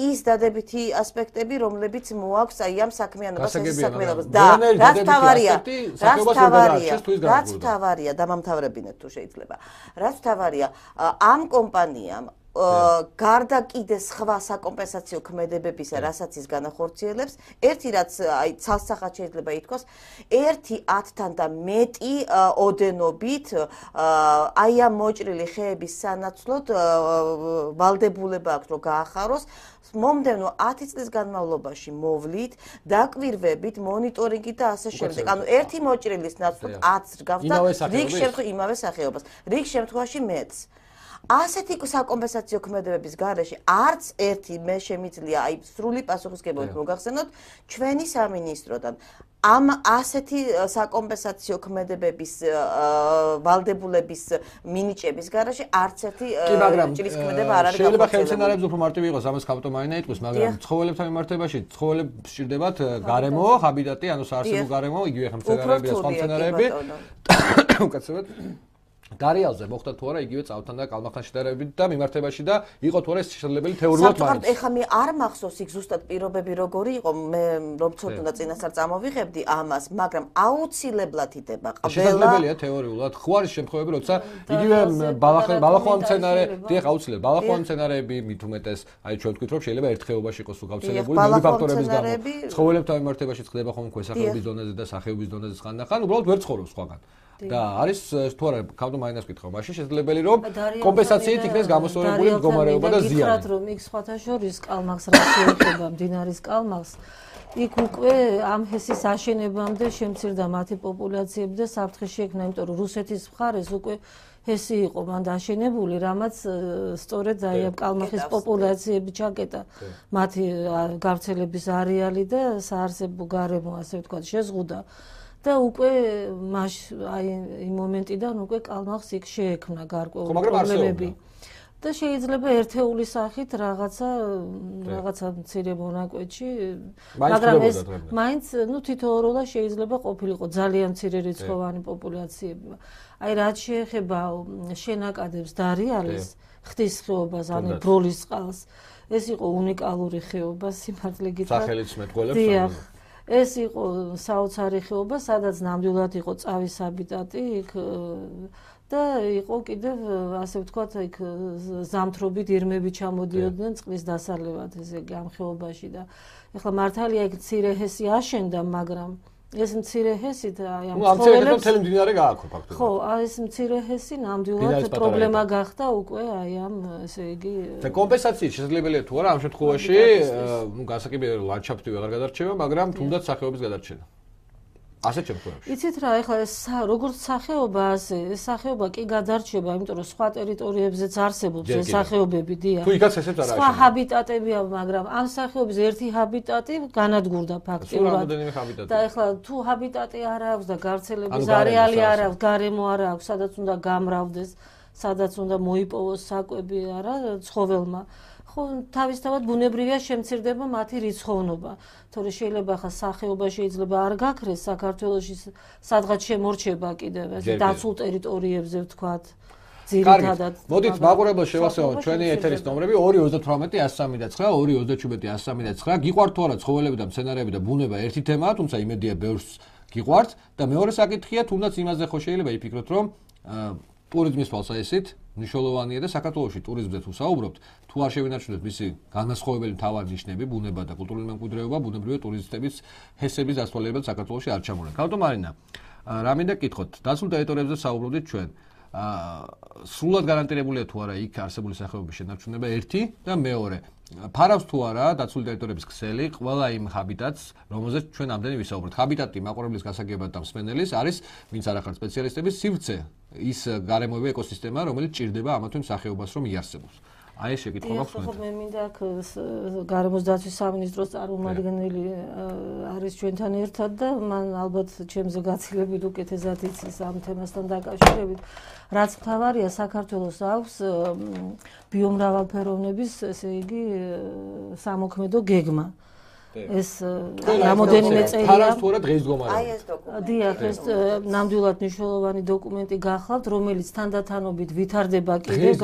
ის დადებითი ასპექტები, რომლებიც მოაქვს აი ამ საქმიანობას, ეს საქმიანობას და რაც თავარია, დამამთავრებინეთ თუ შეიძლება. რაც თავარია, ამ კომპანიამ გარდა კიდე სხვა საკომპენსაციო ქმედებებისა, რასაც ის განახორციელებს, ერთი რაც აი ცალსახად შეიძლება ითქვას, 1/10-თან და მეტი ოდენობით აი ამ მოჭრილი ხეების სანაცვლოდ ვალდებულება აქვს, რომ გაახაროს. მომდევნო 10 წლის განმავლობაში მოვლით, დაკვირვებით, მონიტორინგით და ასე შემდეგ. ანუ ერთი მოჭრილის ნაცვლად 10 გავდა იმავე სახეობას. რიგ შემთხვევაში მეც. ასეთი საკომპენსაციო ქმედებების გარეშე არც ერთი მე შემიძლია აი სრული პასუხისმგებლობით მოგახსენოთ ჩვენი სამინისტროდან ამ ასეთი საკომპენსაციო ქმედებების ვალდებულების მინიჭების გარეშე არც ერთი ჭრის ქმედება არ არის. შეიძლება ხელმძენარეებს უფრო მარტივი იყოს, ამას კაპიტომაინა იტყვის, მაგრამ ცხოველებთან მიმართებაში ცხოველებს სჭირდებათ გარემო, ჰაბიტატი, ანუ საარსებო გარემო, იგივე ხელმძენარეები და სხვა მცენარეები. უკაცრავად დარიალზე მოხდა თუ არა იგივე წავთან და კალმახთან შედარებით და მიმართებაში და იყო თუ არა შესაძლებელი თეორიულად მაინც. საკუთარ ეხლა მე არ მახსოვს იქ ზუსტად პირობები როგორი იყო, მე რომ ცოტა წინასწარ წამოვიღებდი ამას, მაგრამ აუცილებლად იტება ყველა. შესაძლებელია თეორიულად. ხო არის შემთხვევები, როცა იგივე ბალახოვანი მცენარე, დიახ, აუცილებლად ბალახოვანი მცენარეები მით უმეტეს, აი ჩვენ ვთქვით რომ შეიძლება ერთ ხეობაში იყოს გავრცელებული მეტი ფაქტორების გამო. ცხოველებთან მიმართებაში ხდება ხოლმე ქვესახეობის დონეზე და სახეობის დონეზე ხანდახან, უბრალოდ ვერ ცხოვრობს სხვაგან. და არის თუ არა კაპიტომაინას კითხვა, მაშინ შესაძლებელი რომ კომპენსაციით იქნეს გამოსწორებული მდგომარეობა და ზიანი. მითხრათ რომ იქ სხვათა შორის კალმახს რა შეეხება მდინარის კალმახს, იქ უკვე ამ ჰესის აშენებამდე შემცირდა მათი პოპულაციები და საფრთხე შეექმნა, იმიტომ რომ რუსეთის მხარეს უკვე ჰესი იყო მანდ აშენებული, რამაც სწორედ აი ამ კალმახის პოპულაციები ჩაკეტა მათი გავრცელების არეალი და საარსებო გარემო, ასე ვთქვათ, შეზღუდა. და უკვე აი იმ მომენტიდან უკვე კალმახს იქ შეექმნა გარკვეული პრობლემები. და შეიძლება ერთეული სახით რაღაცა მცირე მონაკვეთში, მაგრამ ეს მაინც თითოეულა შეიძლება ყოფილიყო ძალიან მცირე რიცხოვანი პოპულაციები. აი რაც შეეხება შენაკადებს დარიალის ხდის ხეობას, ანუ ბროლის წყალს, ეს იყო უნიკალური ხეობა სიმართლე გითხრათ. სახელიც მეტყველებს. ეს იყო საოცარი ხეობა, სადაც ნამდვილად იყო წავის ჰაბიტატი, იქ და იყო კიდევ ასე ვთქვათ, იქ ზამთრობით ირმები ჩამოდიოდნენ წყლის დასალევად ესე იგი ამ ხეობაში და ეხლა მართალია იქ მცირე ჰესი აშენდა, მაგრამ ეს მცირე ჰესი და აი ამ ცხოველებს მთელი მდინარე გააქვთ ფაქტობრივად. ხო, ეს მცირე ჰესი ნამდვილად პრობლემა გახდა უკვე აი ამ ესე იგი და კომპენსაციით შესაძლებელია თუ არა ამ შემთხვევაში, გასაკიბე ლანდშაფტი ვეღარ გადარჩება, მაგრამ თუნდაც სახეობის გადარჩენა. ასეთ შემთხვევებში. იცით რა, ეხლა ეს როგორც სახეობა ასე, ეს სახეობა კი გადარჩება, იმიტომ რომ სხვა ტერიტორიებზეც არსებობს ეს სახეობები, დიახ. თუ იქაც ესეც არა. სხვა ჰაბიტატებია, მაგრამ ამ სახეობის ერთი ჰაბიტატი განადგურდა ფაქტიურად. და ეხლა თუ ჰაბიტატი არ აქვს და გავრცელების არეალი არ აქვს, გარემო არ აქვს, სადაც უნდა გამრავდეს, სადაც უნდა მოიპოვოს საკვები არა ცხოველმა. ხო, თავისთავად ბუნებრივია შემცირდება მათი რიცხოვნობა. თორე შეიძლება ხა სახეობა შეიძლება არ გაქრეს საქართველოში, სადღაც შემორჩება კიდევ ეს დაცულ ტერიტორიებზე ვთქვათ. ძირითადად. მოდით მაყურებელს შევასწავლოთ ჩვენი ეთერის ნომრები 238-103-9, 238-103-9. გიყვართ თუ არა ცხოველები და მცენარეები და ბუნება ერთი თემაა, თუმცა იმედია ბევრს გიყვართ და მეორე საკითხია, თუნდაც იმაზე ხო შეიძლება იფიქროთ, რომ ტურიზმის თვალსაზრისით მნიშვნელოვანია და საქართველოში ტურიზმზე თუ საუბრობთ, თუ არ შევინარჩუნებთ მისი განმასხვავებელი მთავარი ნიშნები, ბუნება და კულტურული მემკვიდრეობა, ბუნებრივია ტურისტების ჰესების დასწვალებად საქართველოში არ ჩამორენ. ქალბატონო მარინა, რა მინდა გითხოთ, დაცულ ტერიტორიებზე საუბრობდით ჩვენ. სრულად გარანტირებულია თუ არა იქ არსებული სახეობის შენარჩუნება ერთი და მეორე. ფარავს თუ არა დაცული ტერიტორიების ქსელი ყველა იმ ჰაბიტატს, რომელზეც ჩვენ ამდენი ვისაუბრეთ. ჰაბიტატი მაყურებლის გასაგებად და მსმენელის არის, ვინც არ ახარ სპეციალისტების სივრცე, ის გარემოება ეკოსისტემა, რომელიც ჭირდება ამა თუ იმ სახეობას რომ იარსებოს. აი ეს შეკითხვა მაქვს თქვენთან. მე მინდა აქ გარემოს დაცვის სამინისტროს წარმომადგენელი არის ჩვენთან ერთად და მან ალბათ ჩემზე გაცილებით უკეთესად იცის ამ თემასთან დაკავშირებით. რაც მთავარია, საქართველოს აქვს ბიომრავალფეროვნების, ესე იგი, სამოქმედო გეგმა. ეს რამოდენიმე წელია. ფარავს თუ არა დღესდგომარეობა. აი ეს დოკუმენტი. დიახ, ეს ნამდვილად მნიშვნელოვანი დოკუმენტი გახლავთ, რომელიც თანდათანობით ვითარდება კიდევ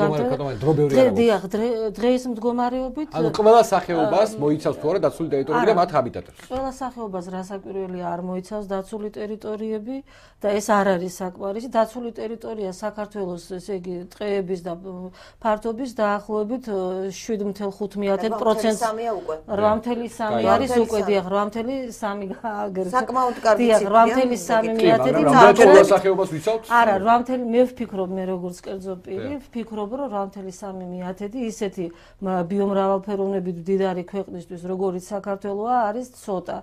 დიახ, დღეს მდგომარეობით. ანუ ყველა სახეობას მოიცავს თუ არა დაცული ტერიტორიები და მათ ჰაბიტატებს. ყველა სახეობას რასაკვირველია არ მოიცავს დაცული ტერიტორიები და ეს არ არის საკმარისი. დაცული ტერიტორია საქართველოს, ესე იგი, ტყეების და ფართობის დაახლოებით 7.5%. 8.3 არის უკვე დიახ 8.3 გააგრძელდა. საკმაოდ კარგი ციფრია. 8.3 მაგრამ სახეობას ვიცავთ? არა, 8. მე ვფიქრობ მე როგორც კერძო პირი, ვფიქრობ რომ 8.3 ისეთი ბიომრავალფეროვნებით მდიდარი ქვეყნისთვის, როგორიც საქართველოა, არის ცოტა.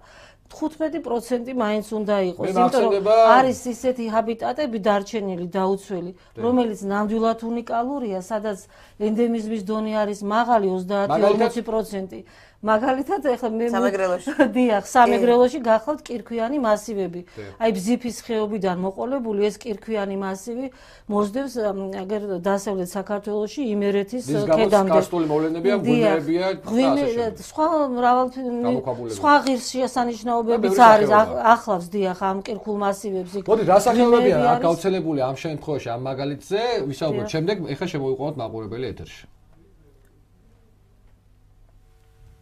15% მაინც უნდა იყოს, იმიტომ რომ არის ისეთი ჰაბიტატები დარჩენილი, დაუცველი, რომელიც ნამდვილად უნიკალურია, სადაც ენდემიზმის დონე არის მაღალი 30-40%. მაგალითად ეხლა მე სამეგრელოში დიახ, სამეგრელოში გახლავთ კირქვიანი მასივები. აი ბზიფის ხეობიდან მოყოლებული ეს კირქვიანი მასივი მოსდევს აგერ დასავლეთ საქართველოში იმერეთის ქედამდე. კარსტული მოვლენებია, გუნდებია, სხვა სხვა ღირსშესანიშნაობებიც არის ახლავს დიახ ამ კირქულ მასივებს. მოდი რა სახეობებია აქ გავრცელებული ამ შემთხვევაში ამ მაგალითზე ვისაუბროთ. შემდეგ ეხლა შემოვიყვანოთ მაყურებელი ეთერში.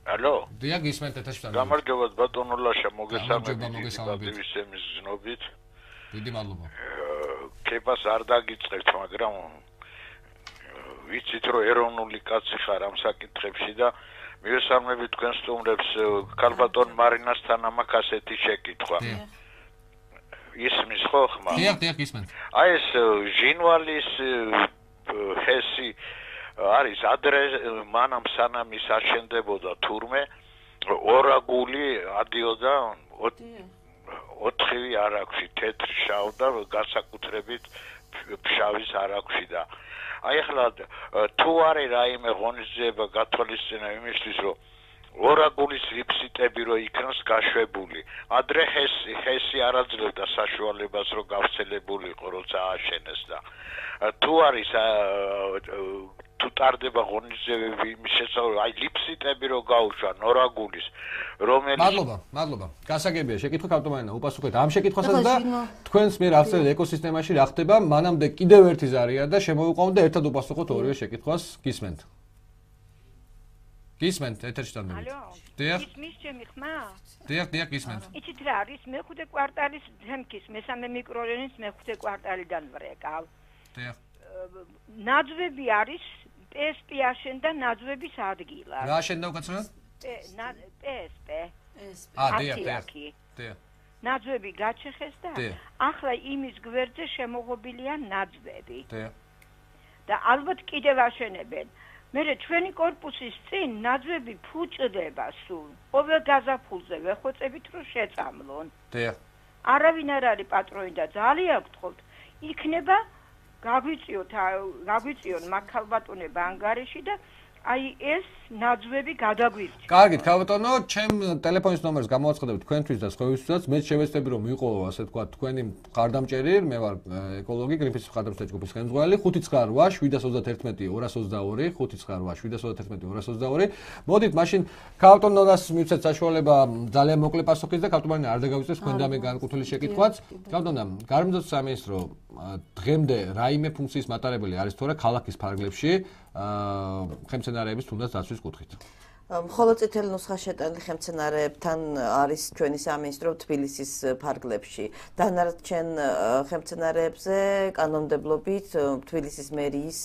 Алло. დიახ, გისმენთ ეთერში. გამარჯობათ ბატონო ლაშა, მოგესალმებით ისემის ზნობით. დიდი მადლობა. კებას არ დაგიწყებთ, მაგრამ ვიცით რომ ეროვნული კაცი ხარ ამ საკითხებში და მივესალმებით თქვენ სტუმრებს ქალბატონ მარინასთან ამას ასეთი შეკითხვა. ისმის ხო ხმა? დიახ, გისმენთ. აი ეს ჟინვალის ჰესი არის ადრე მანამ სანამ ის აშენდებოდა თურმე ორაგული ადიოდა 4 არაქვში თეთრ შავ და განსაკუთრებით ფშავის არაქვში და აი ახლა თუ არის რაიმე ღონისძიება გათვალისწინა იმისთვის რომ ორაგულის ლიფსიტები რო იქნას გაშვებული ადრე ჰესი არ აძლევდა საშუალებას რომ გავრცელებულიყო როცა ააშენეს და თუ არის თუ ტარდება ღონისძიებები იმის შესაძლებლობა აი ლიფსიტები რო გაუშვა ნორაგულის რომელიც მადლობა გასაგებია შეკითხვა ქალბატონო უპასუხეთ ამ შეკითხვასაც და თქვენს მიერ აღწერილ ეკოსისტემაში რა ხდება მანამდე კიდევ ერთი ზარია და შემოვიყვანოთ და ერთად უპასუხოთ ორივე შეკითხვას გისმენთ ეთერში დამდგებით ალო დიახ ისმის ჩემი ხმა დიახ გისმენთ იცით რა არის მეხუთე კვარტალის თემკის მესამე მიკრორაიონის მეხუთე კვარტალიდან ვრეკავ დიახ ნაძვები არის PSP აშენდა ნაძვების ადგილად. რა აშენდა უკაცრავად? PSP. დიახ. ნაძვები გაჩეხეს და ახლა იმის გვერდზე შემოღობილია ნაძვები. და ალბათ კიდევ აშენებენ. მერე ჩვენი კორპუსის წინ ნაძვები ფუჭდება სულ. ყოველ გაზაფხულზე ვეხვეწებით რომ შეწამლონ. არავინ არ არის პატრონი და ძალიან გთხოვთ, იქნება გაგვიწიოთ მაგალბატონება ანგარიში და აი ეს ნაძვები გადაგვირჩა. კარგით, ქალბატონო, ჩემ ტელეფონის ნომერს გამოვაცხადებთ თქვენთვის და სხვებისთვისაც. მე შევეცდები რომ მიყო, ასე ვთქვათ, თქვენი მხარდამჭერი, მე ვარ ეკოლოგი გრინპისის მხარდამჭერი ჯგუფის ხელმძღვანელი 598-722-222, 598-722-222. მოდით, მაშინ ქალბატონოს მივცეთ საშუალება ძალიან მოკლე პასუხის და ქალბატონი არ დაგავიწყდეს თქვენ და მე განკუთვნილი შეკითხვაც. ქალბატონო, გარემოს სამინისტრო დღემდე რაიმე ფუნქციის მატარებელი არის თუ არა ქალაქის ფარგლებში ხელმძენარეების თუნდაც დაცვის კუთხით. მხოლოდ წითელი ნუსხა შეტანილი ხელმძენარეებთან არის ჩვენი სამინისტრო თბილისის ფარგლებში. დანარჩენ ხელმძენარეებზე კანონმდებლობით თბილისის მერიის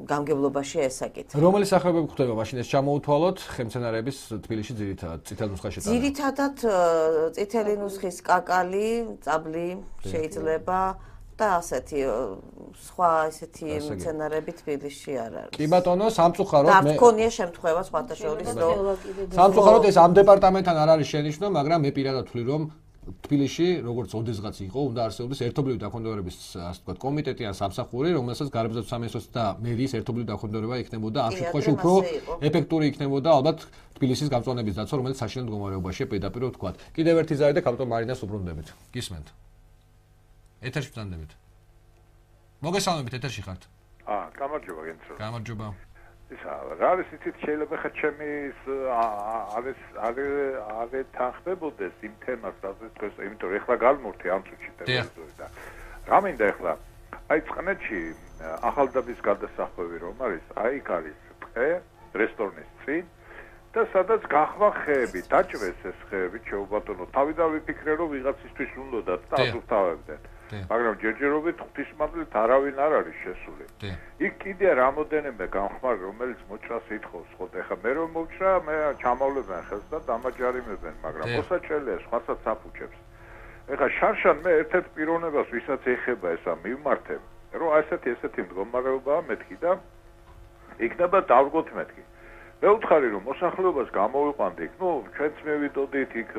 გამგებლობაში ესაკითხება. რომელი სახეობები გვხვდება მაშინ ეს ჩამოუთვალოთ ხელმძენარეების თბილისში ძირითადად წითელი ნუსხა შეტანა? ძირითადად წითელი ნუსხის კაკალი, წაბლი შეიძლება და ასეთი სხვა ესეთი მცენარეები თბილისში არ არის. კი ბატონო, სამწუხაროდ და მქონია შემთხვევა სხვათა შორის რომ სამწუხაროდ ეს ამ დეპარტამენტთან არ არის შენიშვნა, მაგრამ მე პირადად ვთვლი რომ თბილისში როგორც ოდესღაც იყო, უნდა არსებობდეს ერთობლივი დაქვემდებარების ასე ვთქვათ კომიტეტი ან სამსახური, რომელსაც გარემოებათა სამინისტროს და მერიის ერთობლივი დაქვემდებარება იქნებოდა, ამ შემთხვევაში უფრო ეფექტური იქნებოდა ალბათ თბილისის გამწვანების დაცვა, რომელიც საშინელ მდგომარეობაშია პირდაპირ ვთქვათ. კიდევ ერთი ზარი და კაპიტან მარინას უბრუნდებით. გისმენთ? ეთერში ბრძანდებით. მოგესალმებით, ეთერში ხართ. გამარჯობა გენცო. გამარჯობა. ისა რა არის იცით შეიძლება ხა ჩემი არის თანხმებოდეს იმ თემას, რასაც თქვენ, იმიტომ რომ ეხლა გამორთი ამ წუთში ტელევიზორში და რა მინდა ეხლა აი წყნეთში ახალდაბის გადასახვევი რომ არის, აი იქ არის ტყე, რესტორნის წინ და სადაც გახვა ხეები, დაჭრეს ეს ხეები, შეუბატონო. თავიდან ვიფიქრე რომ ვიღაცისთვის უნდათ და აზრთავებდნენ. მაგრამ ჯერჯერობით ღვთისმადლით არავინ არ არის შესული. იქ კიდე რამოდენიმე გამხმარი რომელიც მოჭრას ითხოვს, ხო ეხა მე რომ მოვჭრა, მე ჩამავლებენ ხელს და დამაჯარიმებენ, მაგრამ მოსაჭრელია სხვასაც აფუჭებს. ეხა შარშან მე ერთ-ერთ პიროვნებას ვისაც ეხება ესა მივმართე, რომ ესეთი მდგომარეობაა მეთქი და იქნება დავგოთ მეთქი. მე ვუთხარი რომ მოსახლეობას გამოვიყვანდი, ჩვენც მივიდოდით იქ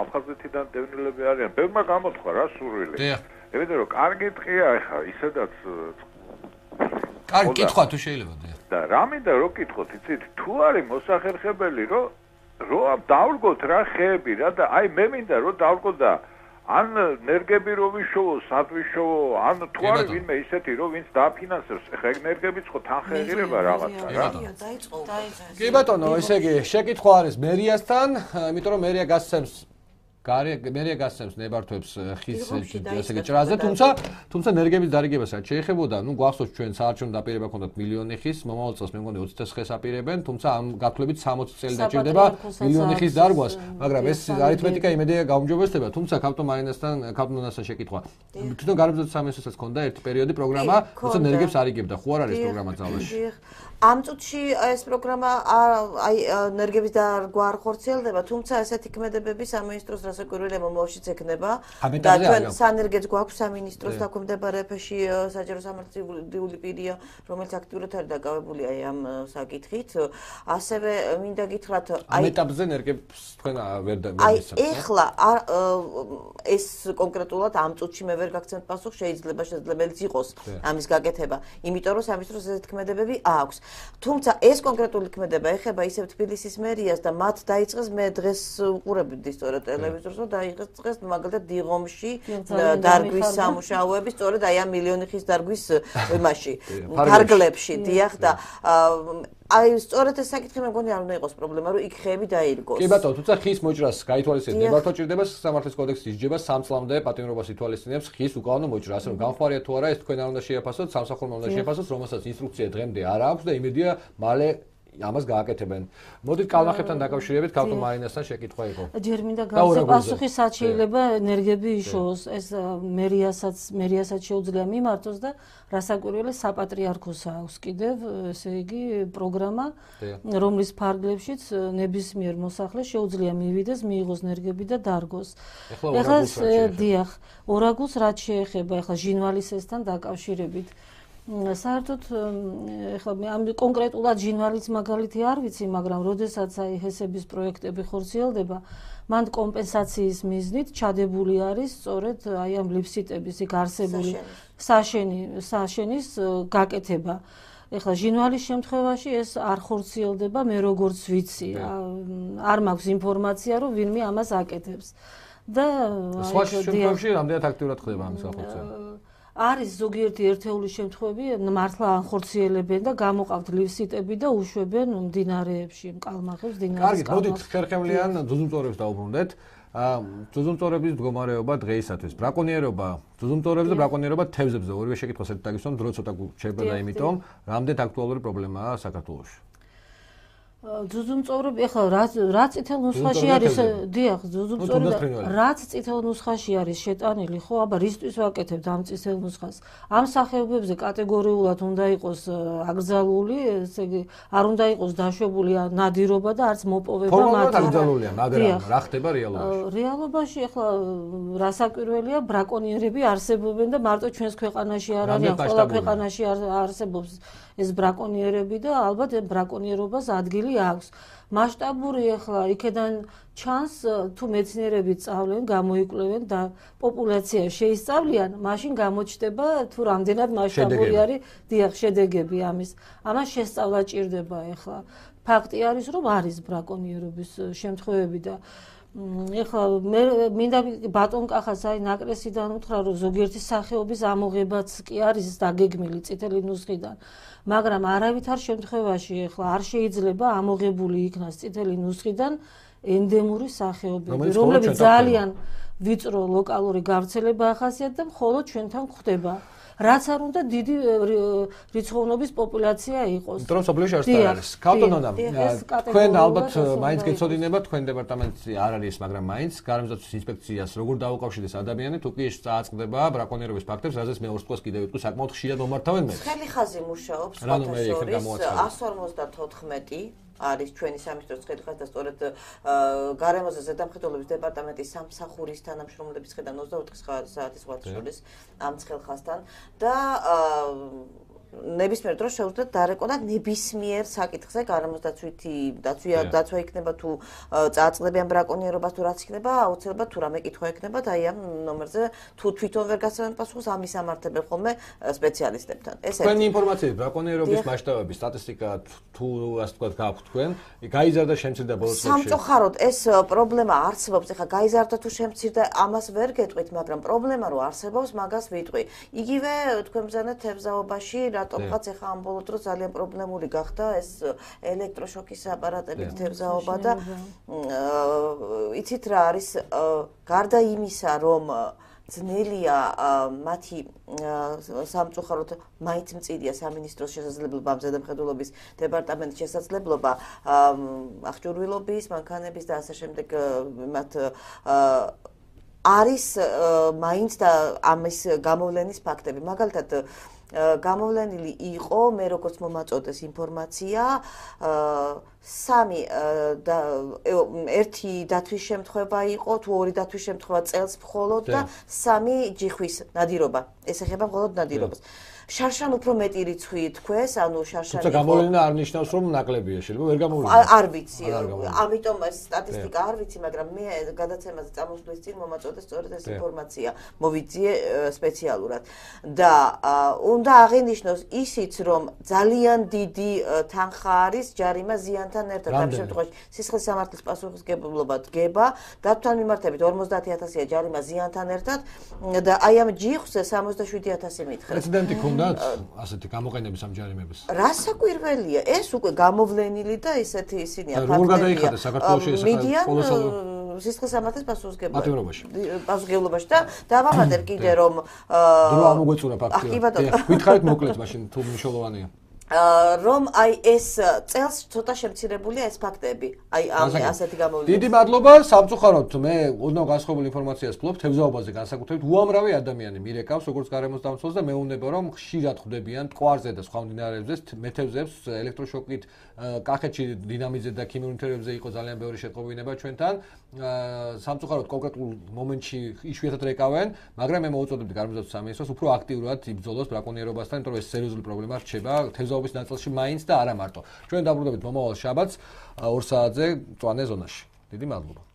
აფხაზეთიდან დევნილები არიან, ბევრმა გამოთხა რა სურვილი. იმიტომ რომ კარგი ტყეა ეხა, ისედაც კარგი კითხვა თუ შეიძლება და რა მინდა რომ კითხოთ, იცით, თუ არის მოსახერხებელი რომ დავდგოთ რა ხეები რა და აი მე მინდა რომ დავდგოთ და ან ენერგები რო ვიშოვო, სად ვიშოვო, ან თუ არის ვინმე ისეთი რომ ვინც დააფინანსებს, ეხა ენერგებიც ხო თანხეღირება რაღაცა რა. კი ბატონო, ესე იგი შეკითხვა არის მერიასთან, იმიტომ რომ მერია გასცემს ნებართვებს ხის ესე იგი ჭრაზე, თუმცა ენერგების დარიგებასაც შეეხებოდა, გვახსოვს ჩვენ საარჩევნო დაპირება ჰქონდათ მილიონი ხის, მომავალ წელს მე მგონი 20 ხეს აპირებენ, თუმცა ამ გათვლებით 60 წელი დაჭირდება მილიონი ხის დარგვას, მაგრამ ეს არითმეტიკა იმედია გაუმჯობესდება, თუმცა კაპიტან მარინასთან შეკითხვა. თვითონ გარემოებათა სამინისტროსაც ჰქონდა ერთი პერიოდი პროგრამა, თუმცა ენერგებს არიგებდა, ხო არ არის პროგრამა ძალაში? ამ წუთში ეს პროგრამა აი ენერგების დარგვა არ ხორციელდება, თუმცა ესეთი ქმედებები სამინისტროს რასაკვირველია მომავალშიც ექნება და ჩვენ სანერგეთს გვაქვს სამინისტროს დაქვემდებარებაში საჯარო სამართლიანი პირია, რომელიც აქტიურად არის დაკავებული აი ამ საკითხით. ასევე მინდა გითხრათ ამ ეტაპზე ენერგებს თქვენ ვერ აი ეხლა ეს კონკრეტულად ამ წუთში მე ვერ გაგცემთ პასუხს, შეძლებელიც იყოს ამის გაკეთება, იმიტომ რომ სამინისტროს ესეთი ქმედებები აქვს. თუმცა ეს კონკრეტული ქმედება ეხება ისევ თბილისის მერიას და მათ დაიწყეს მე დღეს უყურებდი სწორედ ტელევიზორს და დაიწყეს მაგალითად დიღომში დარგვის სამუშაოები სწორედ აი ამ მილიონი ხის დარგვის იმაში ფარგლებში დიახ და აი სწორედ ეს საკითხი მე მგონი არ უნდა იყოს პრობლემა რომ იქ ხეები დაირგოს. კი ბატონო, თუმცა ხის მოჭრას გაითვალისწინეთ, ნებართვა ჭირდება სამართლის კოდექსის ისჯება 3 წლამდე პატიმრობას ითვალისწინებს ხის უკანონო მოჭრა, ასე რომ გამხმარია თუ არა ეს თქვენ არ უნდა შეაფასოთ, სამსახურმა უნდა შეაფასოთ, რომელსაც ინსტრუქცია დღემდე არ აქვს და იმედია მალე ამას გააკეთებენ. მოდით კალმახებთან დაკავშირებით კაპიტან მარინასთან შეკითხვა იყო. ჯერ მინდა გავცე პასუხი სად შეიძლება ენერგები იშოვოს, ეს მერიასაც შეუძლია მიმართოს და რასაკვირველია საპატრიარქოს აქვს კიდევ, ესე იგი პროგრამა, რომლის ფარგლებშიც ნებისმიერ მოსახლეს შეუძლია მივიდეს, მიიღოს ენერგები და დარგოს. ეხლა დიახ, ორაგულს რაც შეეხება ეხლა ჟინვალისესთან დაკავშირებით საერთოდ ეხლა მე ამ კონკრეტულად ჟინვალის მაგალითი არ ვიცი, მაგრამ როდესაც აი ჰესების პროექტები ხორციელდება, მან კომპენსაციის მიზნით ჩადებული არის სწორედ აი ამ ლიფსიტების იქ არსებული საშენის გაკეთება. ეხლა ჟინვალის შემთხვევაში ეს არ ხორციელდება, მე როგორც ვიცი, არ მაქვს ინფორმაცია, რომ ვინმე ამას აკეთებს. და სხვა შემთხვევაში რამდენად აქტიურად ხდება ამის განხორციელება? არის ზოგიერთი ერთეული შემთხვევები, მართლა ანხორციელებენ და გამოყავთ ლივსიტები და უშვებენ მდინარეებში, კალმახებს დინარეს. კარგი, მოდით ხერხემლიან ძუძუმწოვრებს დავუბრუნდეთ. ძუძუმწოვრების მდგომარეობა დღეისათვის, ბრაკონიერობა, ძუძუმწოვრებზე და ბრაკონიერობა თევზებზე, ორივე შეკითხვა საერთოდ დრო ცოტა შეება და იმიტომ, რამდენად აქტუალური პრობლემაა საქართველოში. ძუძუმწოვრები ეხლა რა წითელ ნუსხაში არის დიახ ძუძუმწოვრები რაც წითელ ნუსხაში არის შეტანილი ხო აბა რისთვის ვაკეთებთ ამ წითელ ნუსხას ამ სახეობებზე კატეგორიულად უნდა იყოს აკრძალული ესე იგი არ უნდა იყოს დაშვებული ნადირობა და არც მოპოვება ფორმალურად აკრძალულია მაგრამ რა ხდება რეალობაში რეალობაში ეხლა რასაკვირველია ბრაკონიერები არსებობენ და მარტო ჩვენს ქვეყანაში არ არიან ყველა ქვეყანაში არსებობს ეს ბრაკონიერები და ალბათ ბრაკონიერობას ადგილი აქვს. მასშტაბური ახლა იქედან ჩანს თუ მეცნიერები სწავლენ, გამოიკვლევენ და პოპულაცია შეისწავლიან, მაშინ გამოჩნდება თუ რამდენად მასშტაბური არის დიახ შედეგები ამის. ამას შესწავლა ჭირდება ახლა. ფაქტი არის რომ არის ბრაკონიერობის შემთხვევები და ეხლა მე მინდა ბატონ კახას აი ნაკრესიდან უთხრა რომ ზოგიერთი სახეობის ამოღებაც კი არის დაგეგმილი წითელი ნუსხიდან მაგრამ არავითარ შემთხვევაში ეხლა არ შეიძლება ამოღებული იქნას წითელი ნუსხიდან ენდემური სახეობები რომლებიც ძალიან ვიწრო ლოკალური გავრცელება ახასიათებს და მხოლოდ ჩვენთან გვხდება რაც არ უნდა დიდი რიცხოვნობის პოპულაცია იყოს. იმიტომ რომ სოფლიოში არის. ქალტონონა, თქვენ ალბათ მაინც გეცოდინება თქვენ დეპარტამენტში არ არის, მაგრამ მაინც გარემოსდაცვის ინსპექციას როგორ დაუკავშირდეს ადამიანი, თუ კი წააწყდება ბრაკონიერების ფაქტებს, რაზეც მე ორ თვეს კიდევ ვიტყვი, საკმაოდ ხშირად მომართავენ მე. ხელი ხაზი მუშაობს სპორტსორის 154 არის ჩვენი სამინისტროს ხედვით და სწორედ გარემოზე ზედამხედველობის დეპარტამენტის სამსახურის თანამშრომლების ხედავ 24 საათის ვარცხოლის ამ ცხელხასთან და ნებისმიერ დროს შეუძლიათ დარეკონათ ნებისმიერ საკითხზე გარემოსდაცვითი დაცვა იქნება თუ წააწყდებიან ბრაკონიერობას თუ რაც იქნება აუცილებლად თუ რამე კითხვა იქნება და აი ამ ნომერზე თუ თვითონ ვერ გასცემენ პასუხს ამის ამართებენ ხოლმე სპეციალისტებთან. ეს თქვენი ინფორმაციით ბრაკონიერობის მასშტაბების სტატისტიკა თუ ასე ვთქვათ გააქვთ თქვენ გაიზარდა შემცირდა ბოლოს წლებში სამწუხაროდ ეს პრობლემა არსებობს ეხლა გაიზარდა თუ შემცირდა ამას ვერ გეტყვით მაგრამ პრობლემა რო არსებობს მაგას ვიტყვი იგივე თქვენ ბრძანეთ თევზაობაში რატომღაც ეხლა ამ ბოლო დროს ძალიან პრობლემური გახდა ეს ელექტროშოკის აპარატებით თევზაობა და იცით რა არის გარდა იმისა რომ ძნელია მათი სამწუხაროდ მაინც მწირია სამინისტროს შესაძლებლობა ამ ზედამხედველობის დეპარტამენტის შესაძლებლობა აღჭურვილობის მანქანების და ასე შემდეგ მათ არის მაინც და ამის გამოვლენის ფაქტები მაგალითად გამოვლენილი იყო მე როგორც მომაწოდეს ინფორმაცია სამი ერთი დათვის შემთხვევა იყო თუ ორი დათვის შემთხვევა წელს მხოლოდ და სამი ჯიხვის ნადირობა ეს ეხება მხოლოდ ნადირობას შარშან უფრო მეტი რიცხვი თქვეს, ანუ შარშანი. თუმცა გამოვლენა არ ნიშნავს რომ ნაკლებია, შეიძლება ვერ გამოვლენა. არ ვიცი. ამიტომ ეს სტატისტიკა არ ვიცი, მაგრამ მე გადაცემაზე წამოსვლის წინ მომაწოდეს სწორედ ეს ინფორმაცია, მოვიძიე სპეციალურად. და უნდა აღინიშნოს ისიც რომ ძალიან დიდი თანხა არის ჯარიმა ზიანთან ერთად ამ შემთხვევაში სისხლის სამართლის პასუხისმგებლობა დგება, დათვთან მიმართებით 50000-ია ჯარიმა ზიანთან ერთად და აი ამ ჯიხზე 67000 მითხრა. პრეცედენტი ასეთი გამოყენების ამ ჯარიმების. რასაკვირველია, ეს უკვე გამოვლენილი და ისეთი ისინია ფაქტებია. როგორ გადაიხადა საქართველოში ეს პოლოსალურ სისხლის სამართლის პასუხისმგებლობაში და დავამატებ კიდე რომ დრო ამოგვეწურა ფაქტია. გითხარით მოკლედ მაშინ თუ მნიშვნელოვანია. რომ აი ეს წელს ცოტა შემცირებულია ეს ფაქტები. აი ამ ასეთი გამოვლენა. დიდი მადლობა, სამწუხაროდ მე ოდნავ განსხვავებული ინფორმაციას ვფლობ თევზაობაზე განსაკუთრებით. უამრავი ადამიანი მირეკავს როგორც გარემოს დამცველს და მეუბნება რომ ხშირად ხვდებიან ტყვარზე და სხვა მდინარეებზე მეთევზებს ელექტროშოკით კახეთში დინამიძე და ქიმიურ ნივთიერებებზე იყო ძალიან ბევრი შეტყობინება ჩვენთან. სამწუხაროდ კონკრეტულ მომენტში იშვიათად რეკავენ, მაგრამ მე მოვუწოდებდი გარემოს სამინისტროს უფრო აქტიურად იბრძოლოს ბრაკონიერობასთან, იმიტომ რომ ეს სერიოზული პრობლემა რჩება თევზაობის ნაწილში მაინც და არა მარტო. ჩვენ დაბრუნდებით მომავალ შაბათს 2 საათზე მწვანე ზონაში. დიდი მადლობა.